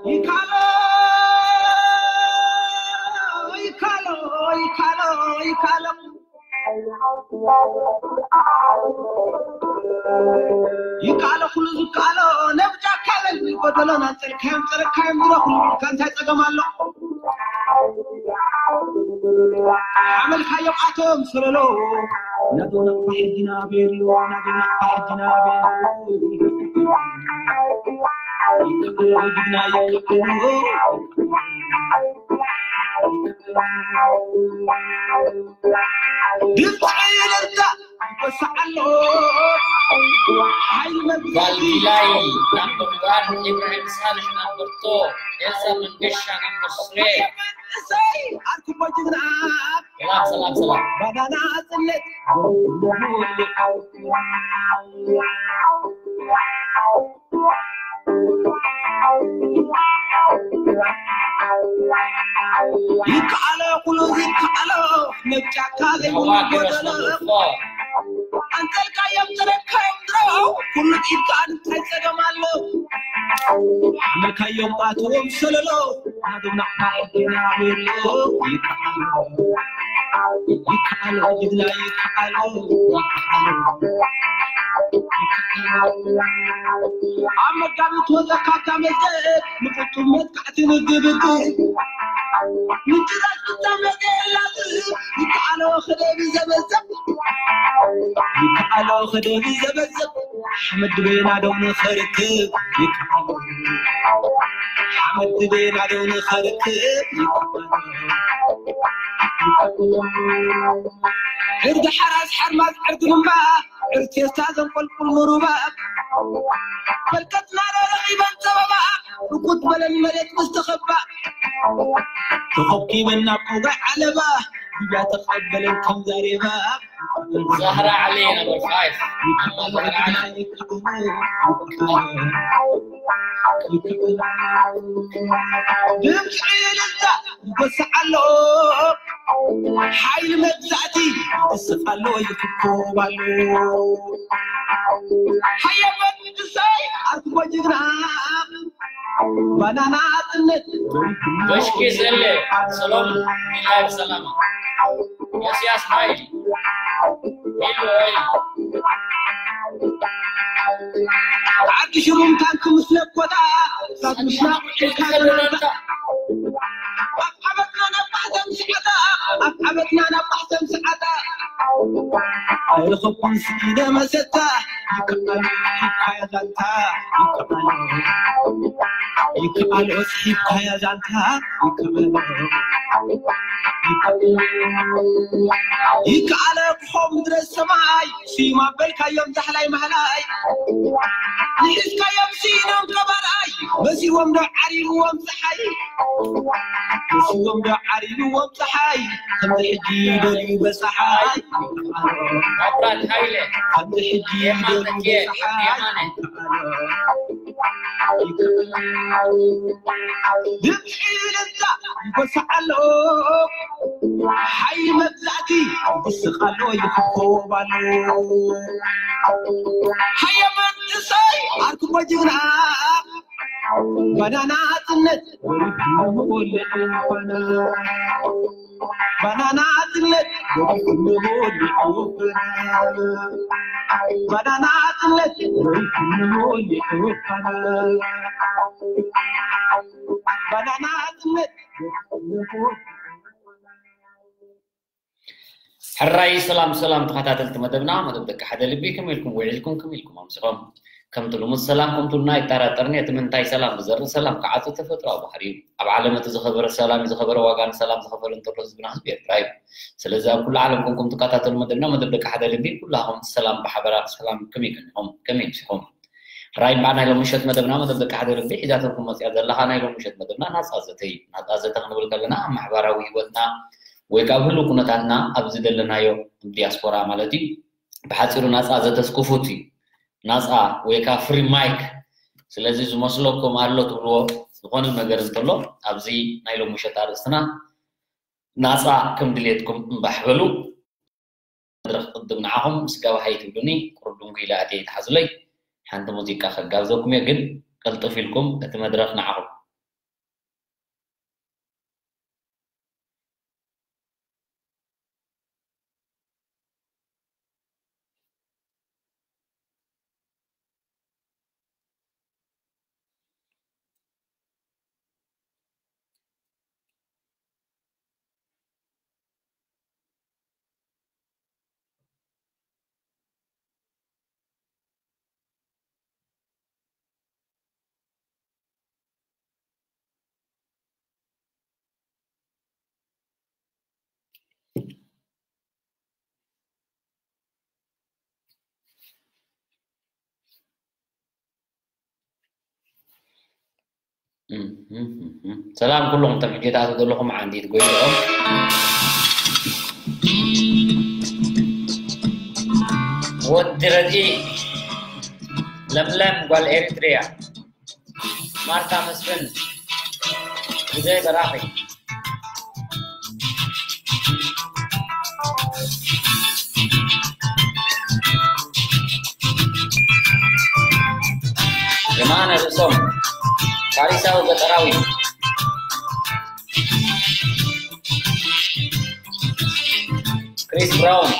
ይካሎ ይካሎ ይካሎ ይካሎ ይካሎ ኩሉ ዝካሎ ነብጃ ካለል ጎደሎ ናንጸልካዮም ጸረካዮም ድሮ ኩሉ ኢልካ እንታይ ጸገም ኣሎ? ሓመልካዮም ኣቶም ሰለሎ ናዶ ናቕፋ ሕጂ ናበየሉ ናዶ ናቕፋ ሕጂ ናበየሉ ይካሎ ግድና ይካሎ ድምፂ እልልታ ይወስዕ ኣሎ። ሓይሊ መግዛእቲ ቫልዲላይ ናምበር ዋን፣ ኢብራሂም ሳልሕ ናምበር ቱ፣ ኤልሳ መንገሻ ናምበር ስሪ። መንእሰይ ኣርኩቦ ጅግና ሰላም ሰላም ሰላም። ባናና ጽነት ይከኣሎ ኩሉ ይከኣሎ ነጫካ ዘይብሉ ጎደሎ ኣንተልካዮም ተረካዮም ድሮ ኩሉ ኢድካ እንታይ ጸገም ኣሎ? ሓመልካዮም ኣትዎም ሰለሎ ናዶም ናቕፋ ሕጊና ቤሎ ይከኣሎ ይከኣሎ ጅግና ይከኣሎ ይከኣሎ ኣብ መጋቢት ወዘካታ መዘት ምጥጡም መጥቃዕቲ ንግብግብ ምጭዛት ብጣም ነገር የላትም ይከኣሎ ክደብ ዘበዘብ ይከኣሎ ክደብ ዘበዘብ ሓመድ ድቤና ደው ንኸርክብ ይከኣሎ ሓመድ ድቤና ደው ንኸርክብ ይከኣሎ ዕርዲ ሓራስ ሓርማዝ ዕርዲ ልምባ ዕርቴስታ ዘንቆልቁል ምሩባ በርከትና ረኺበን ጸበባ ርኩት በለን መሬት ምስ ተኸባ ተኸብኪበን ናብ ቆጋዕ ዓለባ ግብያ ተቐበለን ከም ዛሬባ ዛህራ ዓሊ ነበር ፋይፍ ኣማ ዛህራ ዓሊ ድምፂ እልልታ ይጎስዕ ኣሎ ሓይሊ መግዛእቲ ይስቕ ኣሎ ይክኮብ ኣሎ ሓየበት ንሳይ ኣርክቦ ጅግና ባናና ጽነት በሽኪ ዘለ ሰሎም ቢላይ ሰላማ የስያስ ማይ ኢሉ ወይ ዓዲ ሽሩም ታንክ ምስ ነኮታ ሳት ምሽናቕ ኢልካ ዘናታ ኣብ ዓመትና ናብ ማሕተም ስዓታ ኣብ ዓመትና ናብ ማሕተም ስዓታ ኣይረኸብኩን ስኢነ መሰታ ይከኣል ሂብካያ ዛንታ ይከኣል ይከኣል ኦስ ሂብካያ ዛንታ ይከኣል ይከኣል ክኾ ምድረ ሰማይ ስዩም ኣበልካዮም ዛሕላይ ማህላይ ንእስካዮም ስኢኖም ቀባላይ መሲዎም ዶ ዓሪብዎም ፀሓይ መሲዎም ዶ ዓሪብዎም ፀሓይ ከምዚ ሕጂ ደልዩ በፀሓይ መብራት ሃይለ ከምዚ ሕጂ የማነ ደልዩ ኬ በፀሓይ የማነ ድምፂ ልምፃ ይጎስዕ ኣሎ ሓይሊ መግዛእቲ ይስቕ ኣሎ ይኽኮብ ኣሎ ሃየ መንእሰይ ኣርክቦ ጅግና ባናና ጽነት ባናና ጽነት ባናና ጽነት ባናና ጽነት ሕራይ ሰላም ሰላም ተኸታተልቲ መደብና መደብ ደቂ ሓደ ልቢ ከመይ ኢልኩም ውዒልኩም ከመይ ኢልኩም ኣምሲኾም ከምቲ ልሙድ ሰላም ከምትሉና ይጠራጠርኒ እቲ ምንታይ ሰላም ብዘርኢ ሰላም ክዓጹ ተፈጥሮኣዊ ባህሪ እዩ ኣብ ዓለም እቲ ዝኸበረ ሰላም እዩ ዝኸበረ ዋጋ ንሰላም ዝኸፈለ እንተሎ ህዝብና ህዝቢ ኤርትራ እዩ ስለዚ ኣብ ኩሉ ዓለም ኮንኩም ትከታተሉ መደብና መደብ ደቂ ሓደ ልቢ ኩላኹም ሰላም ብሓበራ ሰላም ከመይ ቀኒኹም ከመይ ኣምሲኹም ሕራይ እምበኣር ናይ ሎሚ ምሸት መደብና መደብ ደቂ ሓደ ልቢ ሒዛተልኩም መፅያ ዘለኻ ናይ ሎሚ ምሸት መደብና ናፃ ዘተ እዩ ናፃ ዘተ ክንብል ከለና ኣብ ማሕበራዊ ህይወትና ወይ ካብ ህሉ ኩነታትና ኣብዚ ዘለናዮ ዲያስፖራ ማለት እዩ ብሓፂሩ ናፃ ዘተስክፉት እዩ ናፃ ወይ ከዓ ፍሪ ማይክ ስለዚ ዝመስለኩም ኣሎ ትብልዎ ዝኾነ ነገር እንተሎ ኣብዚ ናይ ሎሚ ምሸት ኣርእስትና ናፃ ከም ድሌትኩም እምባሕ በሉ መድረኽ ቅድም ንዓኹም ስጋብ ሃይ ትብሉኒ፣ ቁሩብ ድንጉ ኢለ ኣትየ ይትሓዙለይ። ሓንቲ ሙዚቃ ከጋብዘኩም እየ፣ ግን ቅልጥፍ ኢልኩም እቲ መድረኽ ንዓኹም። ሰላም ኩሉኹም ተምሕጆታት ዘለኹም ዓንዲት ጎይኦም። ወዲ ረድኢ፣ ለምለም ጓል ኤሪትሪያ፣ ማርታ መስፍን፣ ግዜ በራኺ፣ የማነ ርእሶም፣ ፋሪሳዊ ገጠራዊ፣ ክሪስ ብራውን።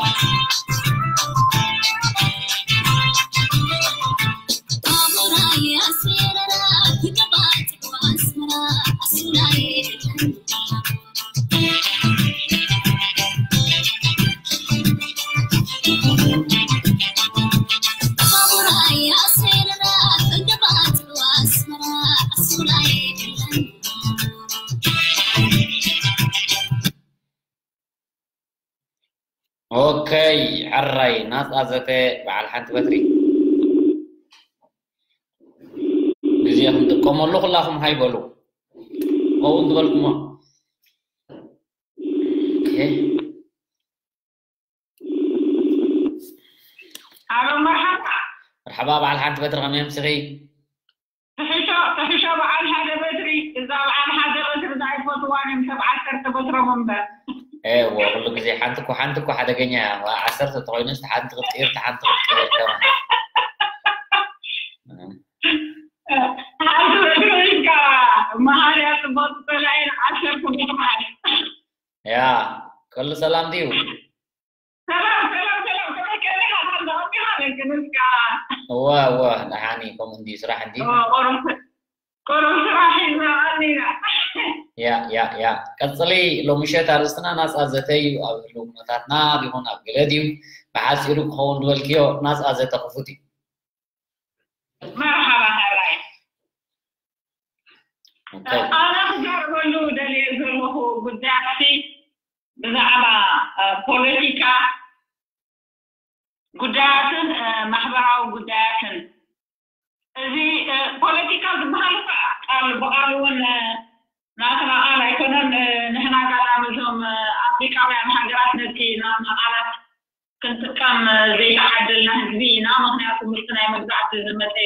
ኦከይ፣ ሕራይ ናጻ ዘተ በዓል ሓንቲ በትሪ። ግዜ ክንጥቀመሉ ኩላኹም ሃይ በሉ። ከምኡ ዝበልኩሞ። ኦኬ። ሃሎ፣ መርሓባ። መርሓባ በዓል ሓንቲ በትሪ፣ ከመይ ኣምሲኺ? ትሕሾ፣ ትሕሾ በዓል ሓደ በትሪ። እዛ በዓል ሓደ በትሪ እዛ ኣይፈትዋን እዮም፣ ሰብ ዓሰርተ በትሮም እምበር። ኤወ፣ ኩሉ ግዜ ሓንቲ እኮ፣ ሓንቲ እኮ ሓደገኛ እያ። ዋ፣ ዓሰርተ ተኾይኑስ፣ ሓንቲ ክትቅይር፣ ሓንቲ ክትቅይር ከማን። ሓንቲ በትሪ ኢልካ፣ መሃርያ ጽቡቕ ዝጸላኤን ዓሰርተ በትሪ። ያ፣ ኩሉ ሰላም ድዩ? ሰላም፣ ሰላም፣ ሰላም። ከመይ፣ ከመይ ኢኻ? ሰላም ዲኻ? ደቂ ንስካ? እወ፣ እወ፣ ደሓን እዩ። ከምኡ እንድዩ፣ ስራሕ እንድዩ። እወ፣ ቁሩብ፣ ቁሩብ ስራሕ ሒዝና ቀኒና። ያ፣ ያ፣ ያ። ቀጽሊ፣ ሎሚ ምሸት ኣርእስትና ናጻ ዘተ እዩ። ኣብ ህልው ኩነታትና ይኹን ኣብ ገለ ድዩ? ብሓጺሩ ክኸውን ዝበልክዮ፣ ናጻ ዘተ ክፉት እዩ። መርሓባ፣ ሕራይ። ኦኬ። ኣነ ክዛረበሉ ደልየ ዘለኹ ጉዳያት ብዛዕባ፣ እ፣ ፖለቲካ ጉዳያትን፣ እ፣ ማሕበራዊ ጉዳያትን። እዚ፣ እ፣ ፖለቲካ ዝበሃል እኳ ቃል ብቓሉ እውን፣ እ፣ ናትና ቃል ኣይኮነን። እ፣ ንሕና ጋና ነዞም፣ እ፣ ኣፍሪቃውያን ሃገራት ነቲ ናትና ቃላት ክንጥቀም፣ እ፣ ዘይተዓደልና ህዝቢ ኢና። ምኽንያቱ ምስቲ ናይ መግዛእቲ ዝመጸ፣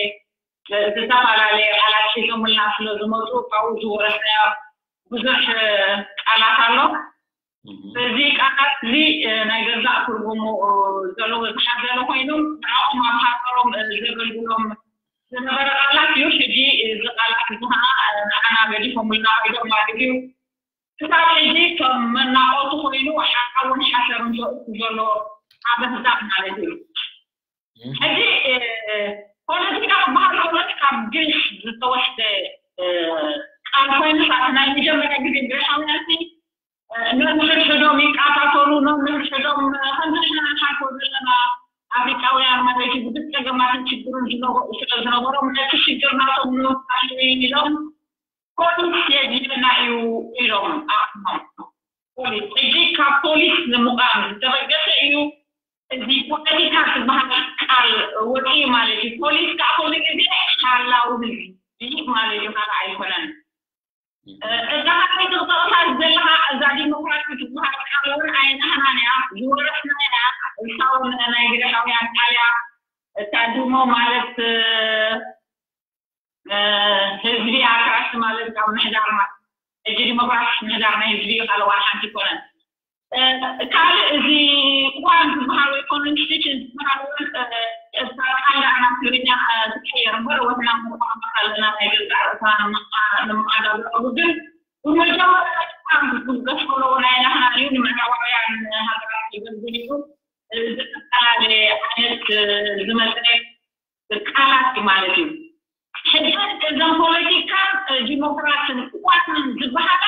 እ፣ ዝተፈላለየ ቃላት ሒዞምልና ስለ ዝመጹ ካብኡ ዝወረስናዮ ብዙሕ፣ እ፣ ቃላት ኣሎ። እህ። እዚ ቃላት እዚ፣ እ፣ ናይ ገዛእ ትርጉሙ፣ እ፣ ዘለዎ ዝሓዘለ ኮይኑ፣ ንዕኦም ኣብ ሃገሮም፣ እ፣ ዘገልግሎም ዝነበረ ቃላት እዩ። ሕጂ እዚ ቃላት እዚ ከዓ፣ እ፣ ንዓና ገዲፎምልና ከይዶም ማለት እዩ። ክሳብ ሕጂ ከም መናቆቲ ኮይኑ ሓውን ሓሰርን ዘእቱ ዘሎ ሓበንታት ማለት እዩ። እህ። ሕጂ፣ እ፣ ፖለቲካ ክበሃል ከሎ ካብ ግሪክ ዝተወስደ፣ እ፣ ቃል ኮይኑ፣ ካብ ናይ መጀመርያ ግዜ ግሪካውያን ሲ፣ እ፣ ነንሕድሕዶም ይቃታተሉ፣ ነንሕድሕዶም፣ እ፣ ከምዚ ንሕና ንሓልፎ ዘለና ኣፍሪቃውያን ማለት እዩ፣ ብዙሕ ጸገማትን ችግርን ዝነበ-፣ ስለ ዝነበሮም፣ ነቲ ሽግር ናቶም ንምፍታሕ ኢሎም ፖሊስ የድልየና እዩ ኢሎም ኣቑሞም። ፖሊስ፣ ሕጂ ካብ ፖሊስ ንምቋም ዝተበገሰ እዩ። እዚ ፖለቲካ ዝበሃል ቃል ወፂኡ ማለት እዩ። ፖሊስ ከዓ ኩሉ ግዜ ሓላዊ ህዝቢ ማለት እዩ፣ ካልእ ኣይኮነን። እ፣ እዛ ካልኣይቲ ክጠቕሳ ዘለኻ እዛ ዲሞክራሲ ዝበሃል ቃል እውን ኣይናህናን እያ፣ ዝወረስና እያ። እሳ እውን ናይ ግሪኻውያን ቃል እያ። እታ ዲሞ ማለት፣ እ፣ እ፣ ህዝቢ ኣክራሲ ማለት ካብ ምሕዳር ማ-፣ ሕጂ ዲሞክራሲ ምሕዳር ናይ ህዝቢ እዩ፣ ካልእ ዋላ ሓንቲ ኣይኮነን። ካልእ እዚ ቋንቋ ዝበሃል ወይ ኮንስቲቱሽን ዝበሃል እውን ካብ ሓደ ናብ ትግርኛ ክቀየር እምበር ወትና ቋንቋ ኣለና ናይ ገዛእ ርእስና ንምሓዳግረሉ ግን ብመጀመርያ ቋንቋ ክብገስ ከለዎ ናይ ናህና እዩ ንምዕራባውያን ሃገራት የገልግል እዩ። ዝተፈላለየ ዓይነት ዝመፀ ቃላት እዩ ማለት እዩ። ሕጂ እዞም ፖለቲካን ዲሞክራስን ዋንን ዝበሃላ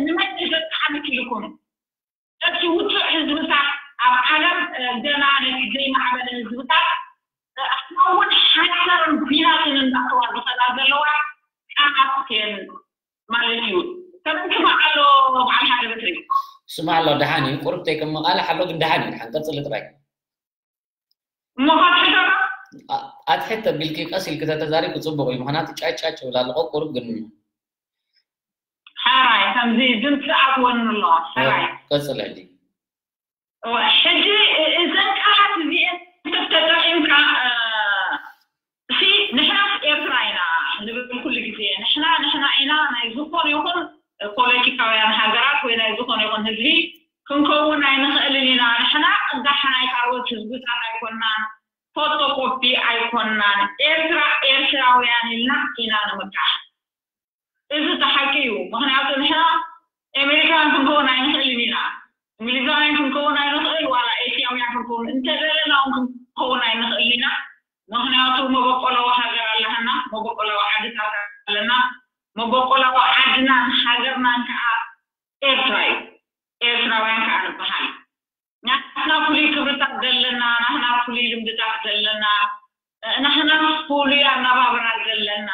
ንመን ዘጣዕሚ ኢልኩም እቲ ውፁዕ ህዝብታት ኣብ ዓለም ገና ነቲ ዘይማዕበለ ህዝብታት ኣስማውን ሓሰርን ቢናትን እንዳተዋ ዝኸዳ ዘለዋ ቃላት እየን ማለት እዩ። ከምንቲ መዓሎ በዓል ሓደ በትሪ ስማ ኣሎ ደሓን እዩ። ቁርብ ተይቅምቓል ሓሎ ግን ደሓን እዩ። ደሓን ቀፅሊ ጥራይ። እሞ ካብ ሕቶ ኣትሕት ተቢልኪ ቀስ ኢልኪ ተተዛሪብ ክፅቡቕ እዩ። ምክንያቱ ጫጫጭ ይብል ኣለኹ ቁሩብ ግን ሕራይ ከምዚ ድምፂ ኣትወኒ ኣለዋ ሕራይ ቀፅለሊ። ሕጂ እዘን ቃላት እዚአን ተጠቂምካ እሲ ንሕናስ ኤርትራ ኢና ንብል ኩሉ ግዜ ንሕና ንሕና ኢና ናይ ዝኾነ ይኹን ፖለቲካውያን ሃገራት ወይ ናይ ዝኾነ ይኹን ህዝቢ ክንከውን ኣይንኽእልን ኢና። ንሕና ቅዳሕ ናይ ካልኦት ህዝብታት ኣይኮናን፣ ፎቶኮፒ ኣይኮናን። ኤርትራ ኤርትራውያን ኢልና ኢና ንምካሕ። እዚ እቲ ሓቂ እዩ። ምኽንያቱ ንሕና ኤሜሪካውያን ክንከውን ኣይንኽእልን ኢና፣ እንግሊዛውያን ክንከውን ኣይንኽእል፣ ዋላ ኤስያውያን ክንከውን እንተደለና እውን ክንከውን ኣይንኽእል ኢና። ምኽንያቱ መበቆላዊ ሃገር ኣለና፣ መበቆላዊ ዓድታት ኣለና። መበቆላዊ ዓድናን ሃገርናን ከዓ ኤርትራ እዩ። ኤርትራውያን ከዓ ንበሃል። ናትና ፍሉይ ክብርታት ዘለና፣ ናትና ፍሉይ ልምድታት ዘለና፣ ናትና ፍሉይ ኣነባብራ ዘለና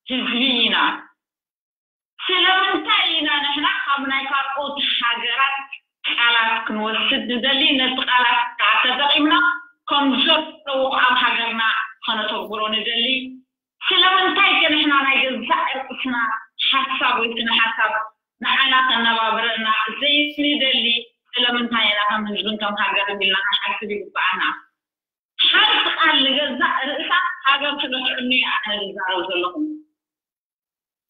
ህዝቢ ኢና። ስለምንታይ ኢና ንሕና ካብ ናይ ካልኦት ሃገራት ቃላት ክንወስድ ንደሊ፣ ነቲ ቃላት ከዓ ተጠቒምና ከም ዘለዎ ኣብ ሃገርና ከነተግብሮ ንደሊ? ስለምንታይ ከ ንሕና ናይ ገዛእ ርእስና ሓሳብ ወይ ስነ ሓሳብ ንዓና ከነባብረና ዘይንደሊ? ስለምንታይ ኢና ከም ህዝብን ከም ሃገርን ኢልና ክንሓስብ ይግብኣና። ሓንቲ ቃል ንገዛእ ርእሳ ሃገር ስለ ትዕኑ እየ ኣነ ዝዛረብ ዘለኹ።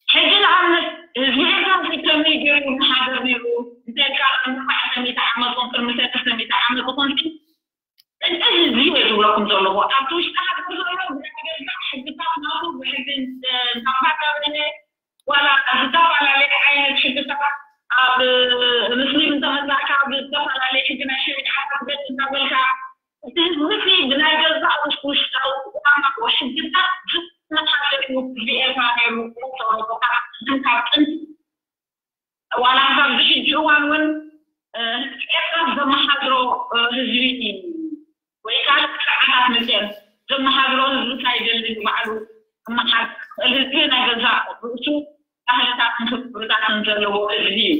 ሕጂ ንኣብነት ህዝቢ ኤርትራ ከመይ ገይሩ ይመሓደር ነይሩ እንተልካ ኣርባዕተ ሚእቲ ዓመት ኹን ቅድሚ ሰለስተ ሚእቲ ዓመት ኹን እዚ ህዝቢ እየ ዝብለኩም ዘለኹ ኣብቲ ውሽጢ ሃገር ዘሎ ብናይ ገዛእ ሕግታት ናቱ ብሕጊ እንዳባዳበነ ዋላ ዝተፈላለየ ዓይነት ሕግታት ኣብ ምስሊም እንተመፃእካ ብዝተፈላለየ ሕጊ ናይ ሸሪዓታት ገፅ እንዳበልካ እቲ ህዝቢ ብናይ ገዛእ ውሽጣዊ ቅዋማዊ ሕግታት ዝመሓደር እዩ ህዝቢ ኤርትራ ነይሩ። ተረቦካ ካብ ጥንቲ ዋላ ኣብዚ ሕጂ እዋን እውን ህዝቢ ኤርትራ ዘመሓድሮ ህዝቢ ወይ ካልእ ስርዓታት መፅአን ዘመሓድሮ ህዝቢ ሳይደሊ ባዕሉ ክመሓድር ዝኽእል ህዝቢ ናይ ገዛእ ርእሱ ባህልታትን ክብርታትን ዘለዎ ህዝቢ እዩ።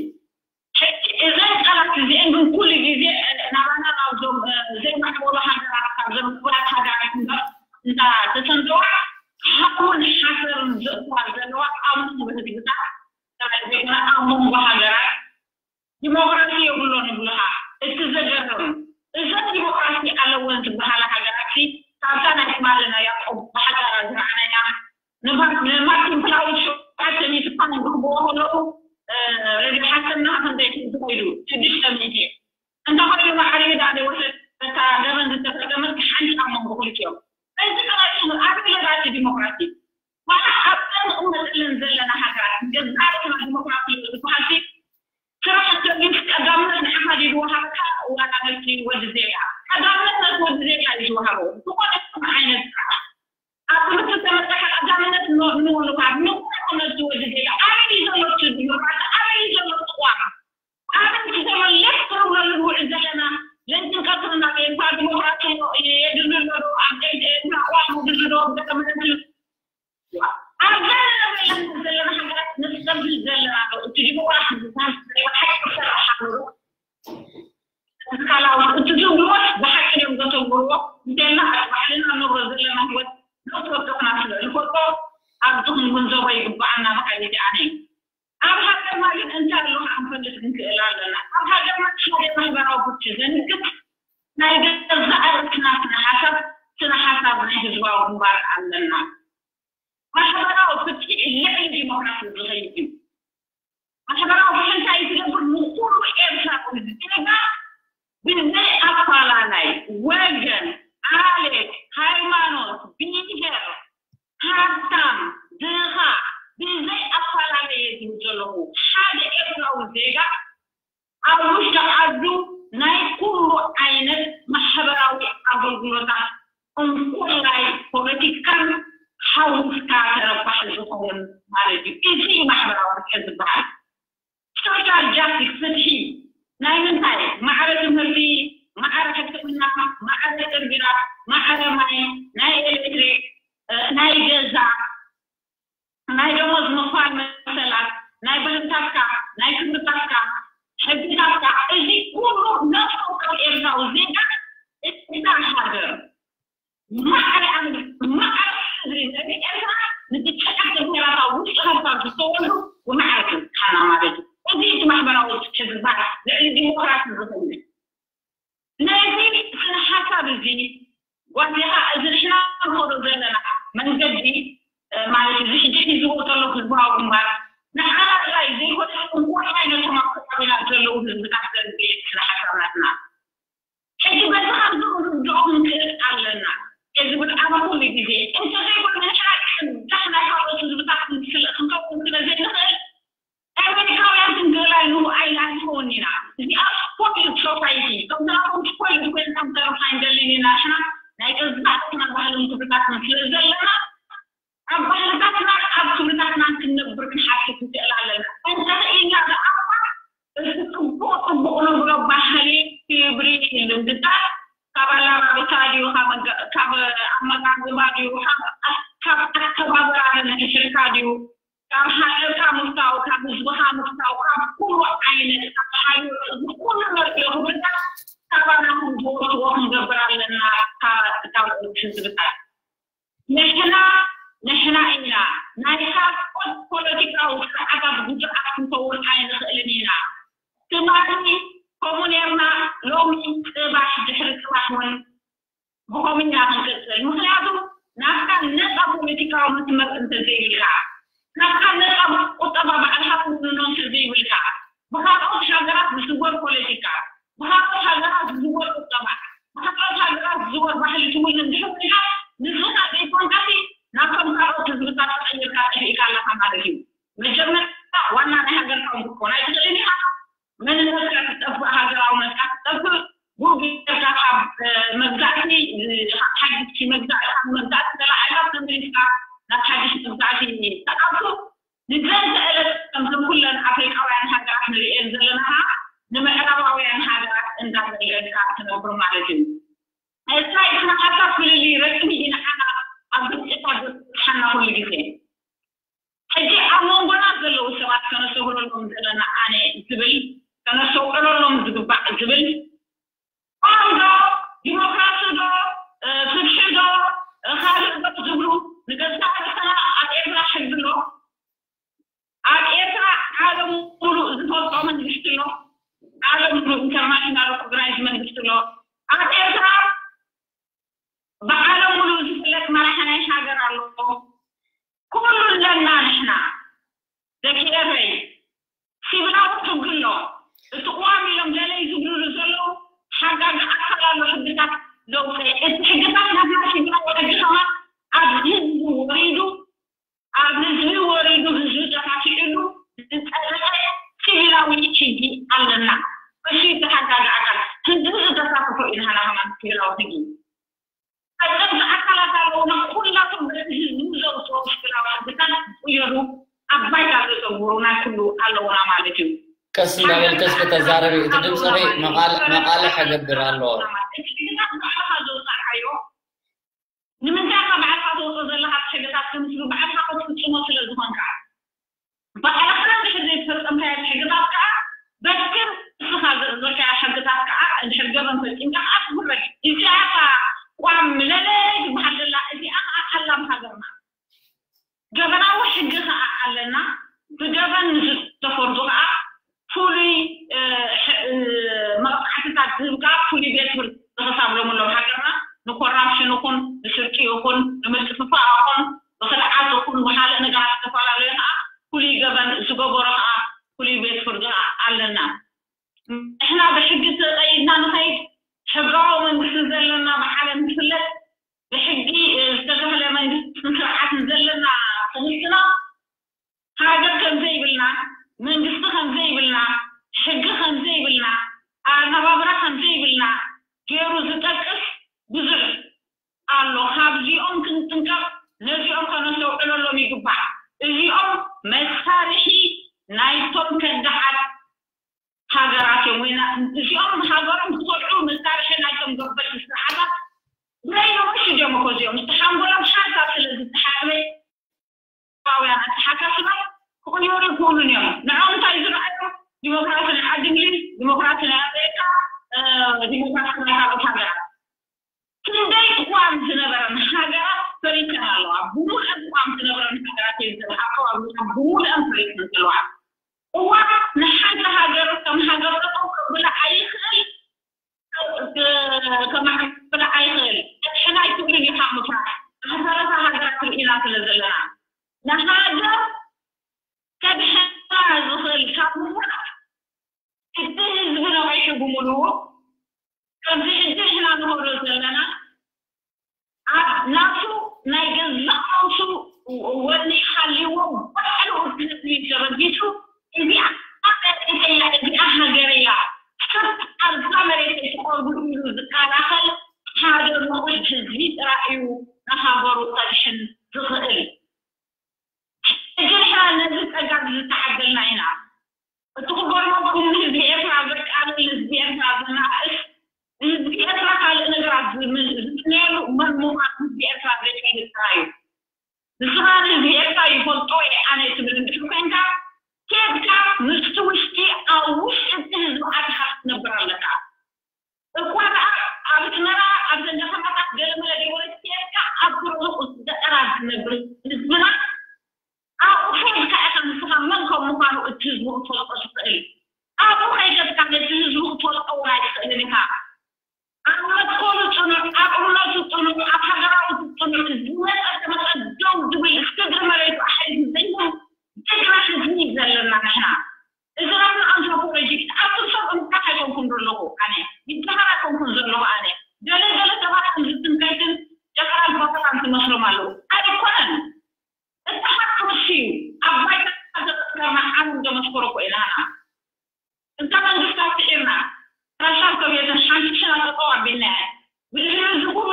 ሕጂ እዘን ቃላት እዚአን ግን ኩሉ ግዜ ናባና ናብዞም ዘይማዕበሉ ሃገራት ካብዞም ምዕቡላት ሃገራት እምበር እንዳተሰንደዋ ሓውን ሓሰርን ዘእትዋ ዘለዋ ኣብ መንጎ ህዝብታት ጥራይ ዘይኮነ ኣብ መንጎ ሃገራት ዲሞክራሲ የብሎን ይብሉኻ። እቲ ዘገርም እዘን ዲሞክራሲ ኣለወን ዝበሃላ ሃገራት ካብታ ናይ ትማሊ ናይ ያዕቆብ ብሓዳራ ዝረኣናያ ንማርቲን ፕላውድ ሸውዓተ ሚእቲ ፓውንድ ክህብዎ ከለዉ ረድዮ ሓሰና ክንደይ ዝኸይዱ ሽዱሽተ ሚእቲ እንተኾይኑ ማዕሪኡ ዳኣ ዘይወሰድ ነታ ገበን ዝተፈጸመት ሓንቲ ኣብ መንጎ ክልቲኦም እዚ ጥራይ እዩ ኣበይ ለባቲ ዲሞክራሲ ዋላ ኣብተን ንቕመጠለን ዘለና ሃገራት ገዛእ ርእስና ዲሞክራሲ ዝበሃልሲ ስራሕ እንተልዩስ ቀዳምነት ንዓኻ ድዩ ዝወሃበካ ዋላ ነቲ ወዲ ዜጋ ቀዳምነት ነቲ ወዲ ዜጋ እዩ ዝወሃቦ ዝኾነ ይኹን ዓይነት ስራሕ ኣብ ትምህርቲ ተመፀካ ቀዳምነት ንወሉካ ንኹነ ነቲ ወዲ ዜጋ ኣበይ እዩ ዘሎ እቲ ዲሞክራሲ ኣበይ እዩ ዘሎ እቲ ቋም ኣበይ እዩ ዘሎ ሌት ትርብለሉ ንውዕል ዘለና ለይትን ቀትርን ኣሜሪካ ዲሞክራሲ የድሊ ኣሎ ዶ ኣብ ኤርትራ ቋም የድሊ ዶ ገጠመቲ ኣብዛ ዘለና ዘለና ሃገራት ንፀብል ዘለና ዶ እቲ ዲሞክራሲ ዝበሃል ናይ ብሓቂ ክሰርሕ ኣለዎ ካልኣዊ እቲ ዝብልዎስ ብሓቂ ድዮም ዘተግብርዎ እንተልና ኣብ ባዕልና ንብሮ ዘለና ህይወት ነቲ ወደቕና ስለ ንፈልጦ ኣብዚ ክንግንዘቦ ይግብኣና በሃሊት ኣነ እዩ ኣብ ሃገርና ግን እንታይ ኣሎ ክንፈልጥ ክንክእል ኣለና ኣብ ሃገርና ሓደ ማሕበራዊ ፍትሒ ዘንግስ ናይ ገዛእ ርእስና ስነ ሓሳብ ስነ ሓሳብ ናይ ህዝባዊ ግንባር ኣለና ማሕበራዊ ፍትሒ ልዕሊ ዲሞክራሲ ዝኸይድ እዩ ማሕበራዊ ፍትሒ እንታይ እዩ ዝገብር? ንኩሉ ኤርትራዊ ዜጋ ብዘይ ኣፋላላይ ወገን፣ ዓሌት፣ ሃይማኖት፣ ብሄር፣ ሃብታም፣ ድኻ፣ ብዘይ ኣፋላለየ ዝብል ዘለኹ ሓደ ኤርትራዊ ዜጋ ኣብ ውሽጢ ዓዱ ናይ ኩሉ ዓይነት ማሕበራዊ ኣገልግሎታት እንኮላይ ፖለቲካን ሓዊስካ ተረባሒ ዝኸውን ማለት እዩ። እዚ እዩ ማሕበራዊ ፍትሒ ዝበሃል። ሶሻል ጃስቲስ፣ ፍትሒ ናይ ምንታይ? ማዕረ ትምህርቲ፣ ማዕረ ሕክምና፣ ማዕረ ጽርግያ፣ ማዕረ ማይ፣ ናይ ኤሌክትሪክ፣ እ፣ ናይ ገዛ፣ ናይ ደሞዝ ምኽፋል መሰላት፣ ናይ ባህልታትካ፣ ናይ ክብርታትካ፣ ሕግታትካ፣ እዚ ኩሉ ነፍሲ ወከፍ ኤርትራዊ ዜጋ እታ ሃገር ማዕረ ኣምር፣ ማዕረ ሕድሪ ንርኢ ኤርትራ ንትሽዓተ ብሄራት ኣብ ውሽጢ ከርታ ዝተወልዱ ብማዕረ ክብጽሓና ማለት እዩ። እዚ እቲ ማሕበራዊ ፍትሒ ዝበሃል ልዕሊ ዲሞክራሲ ዝኽእል። ነዚ ስነ ሓሳብ እዚ ጓዲኻ እዚ ንሕና ንኸዶ ዘለና መንገዲ፣ እ፣ ማለት እዚ ሕጂ ሒዝዎ ዘሎ ህዝባዊ ግንባር ንዓና ጥራይ ዘይኮነ እንኮላይ ነቶም ኣብ ከባቢና ዘለዉ ህዝብታት ዘንብዕ ስነ ሓሳብ ናትና። ሕጂ በዚ ከምዚ ክንርድኦ ክንክእል ኣለና። እዚ ብጣዕሚ ኩሉ ግዜ እንተዘይኮነ ንሕና ቅዳሕ ናይ ካልኦት ህዝብታት ክንክልእ ክንከውን ስለ ዘይንኽእል ኣሜሪካውያን ክንክእል ኣይንኽእልን ኢና። እዚኣ ስፖይልድ ሶሳይቲ ከምዚ ናቶም ስፖይልድ ኮይንና ክንተርፍ ኣይንደልን ኢና። ንሕና ናይ ገዛእ ርእስና ባህልን ክብርታትን ስለ ዘለና ኣብ ባህልታትና ኣብ ክብርታትና ክንነብር ክንሓስብ ንክእል ኣለና። እንተኽኢልና ደኣ እቲ ጽቡቕ ጽቡቕ ንብሎ ባህሊ ክብሪ ልምድታት ካብ ኣላባብሳ ድዩ ካብ ኣመጋ- ካብ ኣመጋግባ ድዩ ካብ ካብ ኣከባብራ ነንሕድሕድካ ድዩ ካብ ሃገርካ ምፍታው ካብ ህዝብኻ ምፍታው ካብ ኩሉ ዓይነት ካብ ሓይሉ እዚ ኩሉ ንርእዮ ክብርታት ካባና ክንዝወትዎ ክንገብር ኣለና። ካብ ካብ ህዝብታት ንሕና ንሕና ኢና ናይ ካልኦት ፖለቲካዊ ስርዓታት ጉድኣት ክንከውን ኣይንኽእልን ኢና። ትማሊ ከምኡ ኔርና ሎሚ ጽባሕ ድሕሪ ጽባሕ እውን ብኸምኡ ኢና ክንቅጽል። ምኽንያቱ ናትካ ነጻ ፖለቲካዊ መስመር እንተዘይብልካ ናትካ ነጻ ቁጠባ ባዕልኻ ትውንኖ እንተዘይብልካ ብኻልኦት ሃገራት ዝዝወር ፖለቲካ ብኻልኦት ሃገራት ዝዝወር ቁጠባ ብኻልኦት ሃገራት ዝዝወር ባህሊ ትውንን ድሕር ኮይንካ ንስኻ ዘይኮንካሲ ናብቶም ካልኦት ህዝብታት ተቐይርካ ጠፊእካ ኣለኻ ማለት እዩ። መጀመርታ ዋና ናይ ሃገርካ እውን ክትኮን ኣይትኽእልን ኢኻ። መንነትካ ክጠፍእ ሃገራውነትካ ክጠፍእ ብኡ ጌርካ ካብ መግዛእቲ ሓድሽ መግዛእቲ ካብ መግዛእቲ ተላዒልካ ተመሊስካ ናብ ሓድሽ መግዛእቲ ተኣቱ ንዘንተ ዕለት ከምዘን ኩለን ኣፍሪቃውያን ሃገራት ንርእየን ዘለና ከዓ ንምዕራባውያን ሃገራት እንዳተልገድካ ትነብር ማለት እዩ። እንታይ ስነ ሓሳብ ፍልልይ ረቅሚ ኢንዓና ኣብ ግጭታት ዘብፅሓና ኩሉ ግዜ ሕጂ ኣብ መንጎና ዘለዉ ሰባት ከነስተውዕለሎም ዘለና ኣነ ዝብል ከነስተውዕለሎም ዝግባእ ዝብል ቋም ዶ ዲሞክራሲ ዶ ፍትሒ ዶ ካልእ ዶ ዝብሉ ንገዛእ ርእስና ኣብ ኤርትራ ሕጊ ኣሎ ኣብ ኤርትራ ዓለም ሙሉእ ዝፈልጦ መንግስቲ ኣሎ ዓለም ሙሉእ ኢንተርናሽናል ሪኮግናይዝ መንግስቲ ኣሎ ኣብ ኤርትራ ብዓለም ሙሉእ ዝፍለጥ መራሒ ናይ ሃገር ኣሎ ኩሉ ኣለና ንሕና ደቂ ኤረይ ሲቪላዊ ሕጊ ኣሎ እቲ ቅዋም ኢሎም ገለ ዝብልሉ ዘለዉ ሓጋጊ ኣካል ኣሎ ሕግታት ዘውፀ እቲ ሕግታት ናትና ሲቪላዊ ሕጊ ከማ ኣብ ህዝቢ ወሪዱ ኣብ ህዝቢ ወሪዱ ህዝቢ ተኻፊዕሉ ዝፀደቐ ሲቪላዊ ሕጊ ኣለና እሱ ተሓጋጊ ኣካል ህዝቢ ዘሳተፎ እዩ ንሃና ከማ ሲቪላዊ ሕጊ ፈፀምቲ ኣካላት ኣለውና ኩላቶም በቲ ህዝቢ ዘውፅኦ ሽግራት ሕግታት ዝቅየሩ ኣብ ባይታ ዘዘውሩ ናይ ኩሉ ኣለውና ማለት እዩ። ቀስ እንዳበልከ እስኪ ተዛረቢ፣ እቲ ድምፅኺ መቓል- መቓልሕ ከገብር ኣለዎ። እቲ ሕግታት ባዕልኻ ዘውፃእካዮ ንምንታይ ኢኻ ባዕልኻ ተውፅኦ ዘለኻ እቲ ሕግታት ከምስሉ ባዕልኻ ክትፍፅሞ ስለ ዝኾንካ ባዕልኻ እንድሕር ዘይተፈፀምካዮ ሕግታት ከዓ በቲ ንስኻ ዘእዘዝካያ ሕግታት ከዓ እንድሕር ገበን ፈፂምካ ከዓ ትፍረድ። እዚኣ ከዓ ቋም ለለ ትበሃል ዘላ እዚኣ ከዓ ሓላም ሃገርና ገበናዊ ሕጊ ከዓ ኣለና። ብገበን ንዝተፈርዱ ከዓ ፍሉይ መቕፃዕትታት ዝህብ ከዓ ፍሉይ ቤት ፍርዲ ክሳብ ሎሚ ኣለዉ ሃገርና ንኮራፕሽን ይኹን ንስርቂ ይኹን ንምጥፍፋእ ይኹን ብክድዓት ይኹን ብካልእ ነገራት ዝተፈላለዩ ከዓ ፍሉይ ገበን ዝገበሮ ከዓ ፍሉይ ካብዚኦም ክንጥንቀቕ፣ ነዚኦም ከነስተውዕለሎም ይግባእ። እዚኦም መሳርሒ ናይቶም ከዳዓት ሃገራት እዮም። ወይ ና-፣ እዚኦም ሃገሮም ዝኸድዑ መሳርሒ ናይቶም ገበቲ ስርዓታት ብናይ ነዊሕ ድዮም እኮ እዚኦም። እቲ ሓንጎሎም ሓንሳብ ስለ ዝተሓጽበ፣ ኤርትራውያን ኣተሓሳስባ ክቕየሩ ይኽእሉን እዮም። ንዕኦም እንታይ ዝረኣዮም? ዲሞክራሲ ናይ ዓዲ እንግሊዝ፣ ዲሞክራሲ ናይ ኣሜሪካ፣ እ፣ ዲሞክራሲ ናይ ካልኦት ሃገራት። ክንደይ ቅዋም ዝነበረን ሃገራት ፈሪሰን ኣለዋ። ብምሉአን ቅዋም ዝነበረን ሃገራት እየን ዘለዋ። ኣከባቢና ብምሉአን ፈሪሰን ዘለዋ። ቅዋም ንሓንቲ ሃገር ከም ሃገር ጠጠው ከብላ ኣይኽእል፣ ከ-፣ ከማዕብላ ኣይኽእል። ሕና ኣይትብልን ኢኻ ምፍራሕ። ዝተረፈ ሃገራት ርኢና ስለ ዘለና። ንሃገር ከድሕና ዝኽእል ካብ ምፍራሕ፣ እቲ ህዝቢ ነቒሑ ብምሉኡ፣ ከምዚ ሕጂ ንሕና ንኸዶ ዘለና፣ ኣብ ናቱ ናይ ገዛእ ርእሱ ወኒ ሃልይዎ፣ ባዕሉ እቲ ህዝቢ ተበጊሱ፣ እዚኣ መሬተይ እያ፣ እዚኣ ሃገረይ እያ፣ ሰብ ኣብዛ መሬተይ ትቐርቡ ኢሉ ዝከላኸል ሓደ ምቑሕ ህዝቢ ጥራይ እዩ ንሃገሩ ከድሕን ዝኽእል። ሕጂ ንሕና ነዚ ጸጋ ዝተዓደልና ኢና። እቲ ክገርመኩም፣ ንህዝቢ ኤርትራ ዘቃልል፣ ንህዝቢ ኤርትራ ዘናእስ፣ ንህዝቢ ኤርትራ ካልእ ነገራት ዝም-፣ ዝምነየሉ መን ምዃኑ ህዝቢ ኤርትራ ዘይፈልጥ ጥራይ እዩ። ንስኻ ንህዝቢ ኤርትራ ይፈልጦ እየ ኣነ ትብል እንድሕር ኮይንካ፣ ኬድካ ምስቲ ውሽጢ፣ ኣብ ውሽጢ እቲ ህዝቢ ኣቲኻ ክትነብር ኣለካ። እኳ ደኣ ኣብ ኣስመራ፣ ኣብ ዘን ከተማታት ገለመለ ገይሮም ኬድካ ኣብ ርሑቕ ገጠራት ዝነብር ህዝብና ኣብኡ ኬድካ ኢኻ ንስኻ መን ከም ምዃኑ እቲ ህዝቢ ክትፈልጦ ትኽእል። ኣብኡ ከይከድካ ነቲ ህዝቢ ክትፈልጦ እውን ኣይትኽእልን ኢኻ። ኣብ መትከሉ ጽኑዕ፣ ኣብ እምነቱ ጽኑዕ፣ ኣብ ሃገራዊ ጽኑዕ፣ ዝመጸ ተመጸ ደው ዝብል፣ ስድሪ መሬቱ ኣሕሊፉ ዘይህብ ጅግና ህዝቢ እዩ ዘለና ንሕና። እዚ ናትና ኣንትሮፖሎጂ፣ ኣብቲ ሰብ እንኳን ኣይኮንኩን ዘለኹ ኣነ፣ ይበሃል ኣይኮንኩን ዘለኹ ኣነ። ገለ ገለ ሰባት ከም ዝትንከትን ጨፈራን ፖተራን ትመስሎም ኣለዉ። ኣይኮነን። እቲ ሓቂ ንሱ እዩ። ኣብ ባይታ ዘመስከርና ዓለም ዘመስከሮ እኮ ኢና ንሕና። እታ መንግስታት ስዒርና፣ ራሻን ሶቪየትን ሓንቲ ሽና ጠጠው ኣቢልና እያ። ብድሕሪ እዚ ኩሉ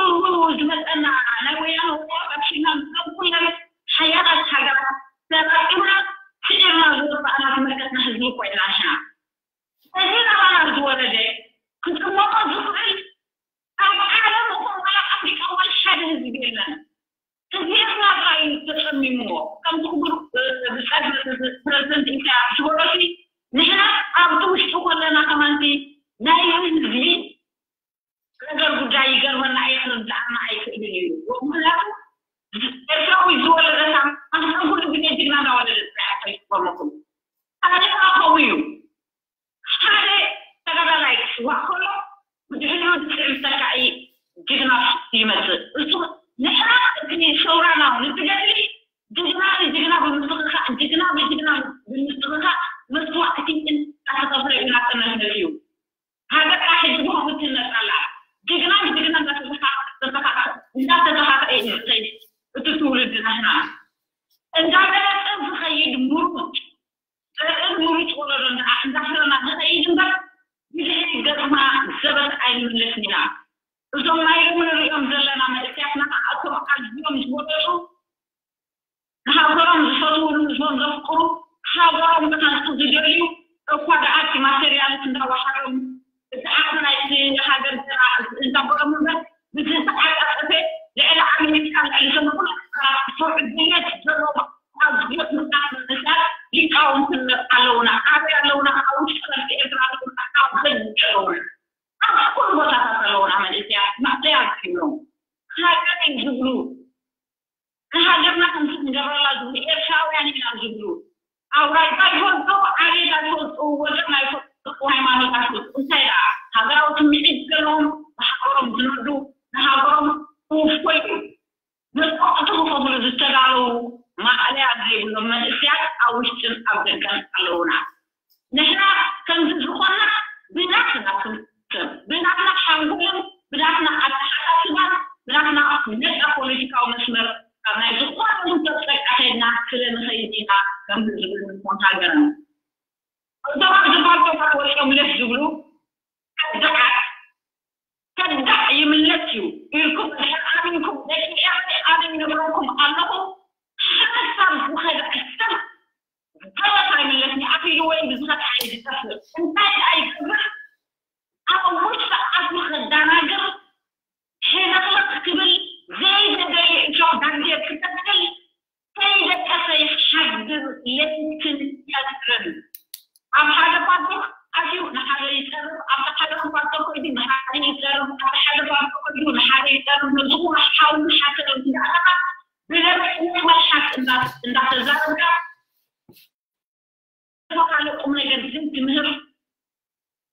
ዝመፀና ናይ ወያነ ወራር ኣብ ሽና ምስቶም ኩለን ሓያላት ሃገራት ተጠቂምና ስዒርና ዝወፃእና ዝመከትና ህዝቢ እኮ ኢና ንሕና። እዚ ናባና ዝወረደ ክጥመቆ ዝኽእል ኣብ ዓለም እኮ ዋላ ኣፍሪቃ ዋላ ሓደ ህዝቢ የለን። ህዝቢ ኤርትራ ጥራይ እዩ ተጸሚምዎ። ከምቲ ክቡር፣ እ፣ ብጻይ ፕረዚደንት ኢሳያስ ዝበሎሲ፣ ንሕና ኣብቲ ውሽጢ ከለና ከማንቲ ናይ ህዝቢ ነገር ጉዳይ ይገርመና ኣየ ክርድኣና ኣይክእልን እዩ። ምኽንያቱ ኤርትራዊ ዝወለደታ ማህፀን ኩሉ ግዜ ጅግና እንዳወለደት እያ። ኣይትገርመኩም። ታሪኽና ከምኡ እዩ። ሓደ ተጋዳላይ ክስዋእ ከሎ ብድሕሪኡ ዝስዕብ ተካኢ ጅግና ይመጽእ። እሱ ንሕና እቲ ሰውራና ንትገድሊ ጅግና ንጅግና ብምትኽኻእ፣ ጅግና ብጅግና ብምትኽኻእ መስዋእቲ እናተኸፍለ እዩ እናተነህለ እዩ። ሃገርና ሕጂ ብኸምኡ ትህነጽ ኣላ። ጅግና ንጅግና እናተተኻ-፣ ተተኻ-፣ እናተተኻኸአ እዩ ዝኸይድ እቲ ትውልዲ ናህና። እንዳበለጸ ዝኸይድ ምሩጽ፣ ዘርእን ምሩጽ ወለዶ እንዳ-፣ እንዳፍረና ንኸይድ እምበር ብድሕሪት ገጽና ዘበት ኣይንምለስን ኢና። እዞም ናይ ሎሚ ንሪኦም ዘለና መንእሰያትና ከዓ እቶም ኣዝዮም ዝበለጹ ንሃገሮም ዝፈትዉ፣ ንህዝቦም ዘፍቅሩ፣ ሃገሮም ክሃንጹ ዝደልዩ፣ እኳ ደኣ እቲ ማቴርያል እንዳወሓዶም፣ እቲ ዓቕሚ ናይቲ ሃገር ገና እንዳበሎም እምበር፣ ብዝተዓጻጸፈ ልዕሊ ኣሜሪካ፣ ልዕሊ እዞም ኩሉ ሃገራት ዝሰርሑ ድሌት ዘለዎም ኣዝዮም ብዙሓት መንእሰያት ሊቃውንቲ ኣለዉና። ኣበይ ኣለዉና? ኣብ ውሽጢ ቃልሲ ኤርትራ ኣለዉና፣ ኣብ ደገ ኣለዉና። ኣብ ኩሉ ቦታታት ኣለዉና መንእሰያት፣ ማእለያ ዘይብሎም። ሃገረይ ዝብሉ፣ ንሃገርና ከምዚ ክንገብረላ ዝብሉ፣ ኤርትራውያን ኢና ዝብሉ፣ ኣውራጃ ይፈልጡ፣ ዓሌት ኣይፈልጡ፣ ወገን ኣይፈልጡ፣ ሃይማኖት ኣይፈልጡ። እንታይ ደኣ ሃገራዊ ስምዒት ዘለዎም፣ ብሃገሮም ዝነዱ፣ ንሃገሮም ክውፈዩ መስዋእቲ ክኸፍሉ ዝተዳለዉ ማእለያ ዘይብሎም መንእሰያት ኣብ ውሽጥን ኣብ ደገን ኣለዉና። ንሕና ከምዚ ዝኾንና ብናትና ስም፣ ብናትና ሓንጎልን ብናትና ኣተሓሳስባን ብናትና ነጻ ፖለቲካዊ መስመር ካብ ናይ ዝኾነ ውድብ ጸግዒ ከይድና ስለ ንኸይድ ኢና ከምዚ ዝብል ንኾን ሃገርና። እዞም ኣብዚ ባልቶታት ወጺኦም ለፍ ዝብሉ ከዳዓት፣ ከዳዕ ይምለስ እዩ ኢልኩም ድሕር ኣሚንኩም ደቂ ኤረይ ኣነ ይነግረኩም ኣለኹ። ሓሳብ ዝኸድዐ ሰብ ገለት ኣይምለስን እዩ። ኣኺሉ ወይ ብዝኸድዐ እዩ ዝጠፍእ። እንታይ ደኣ ይገብር? ኣብ ውሽጢ ኣፉ ከዳናግር፣ ሕልኽልኽ ክብል፣ ዘይተደልየ እሾኽ ዳንዴር ክተክል፣ ከይደቀሰ ይሓድር ለይትን ቀትርን። ኣብ ሓደ ፓርቶክ ኣትዩ ንሓደ ይጸርፍ፣ ኣብቲ ሓደ ፓርቶክ ከይዱ ንሓደ ይጸርፍ፣ ኣብ ሓደ ፓርቶክ ከይዱ ንሓደ ይጸርፍ። ነዚ ኩሉ ሓውን ሓሰርን እንዳኣተኻ ብለበስ ናይ መልሓስ እንዳ-፣ እንዳተዛረብካ ካልእ ቁም ነገር ዘይትምህር።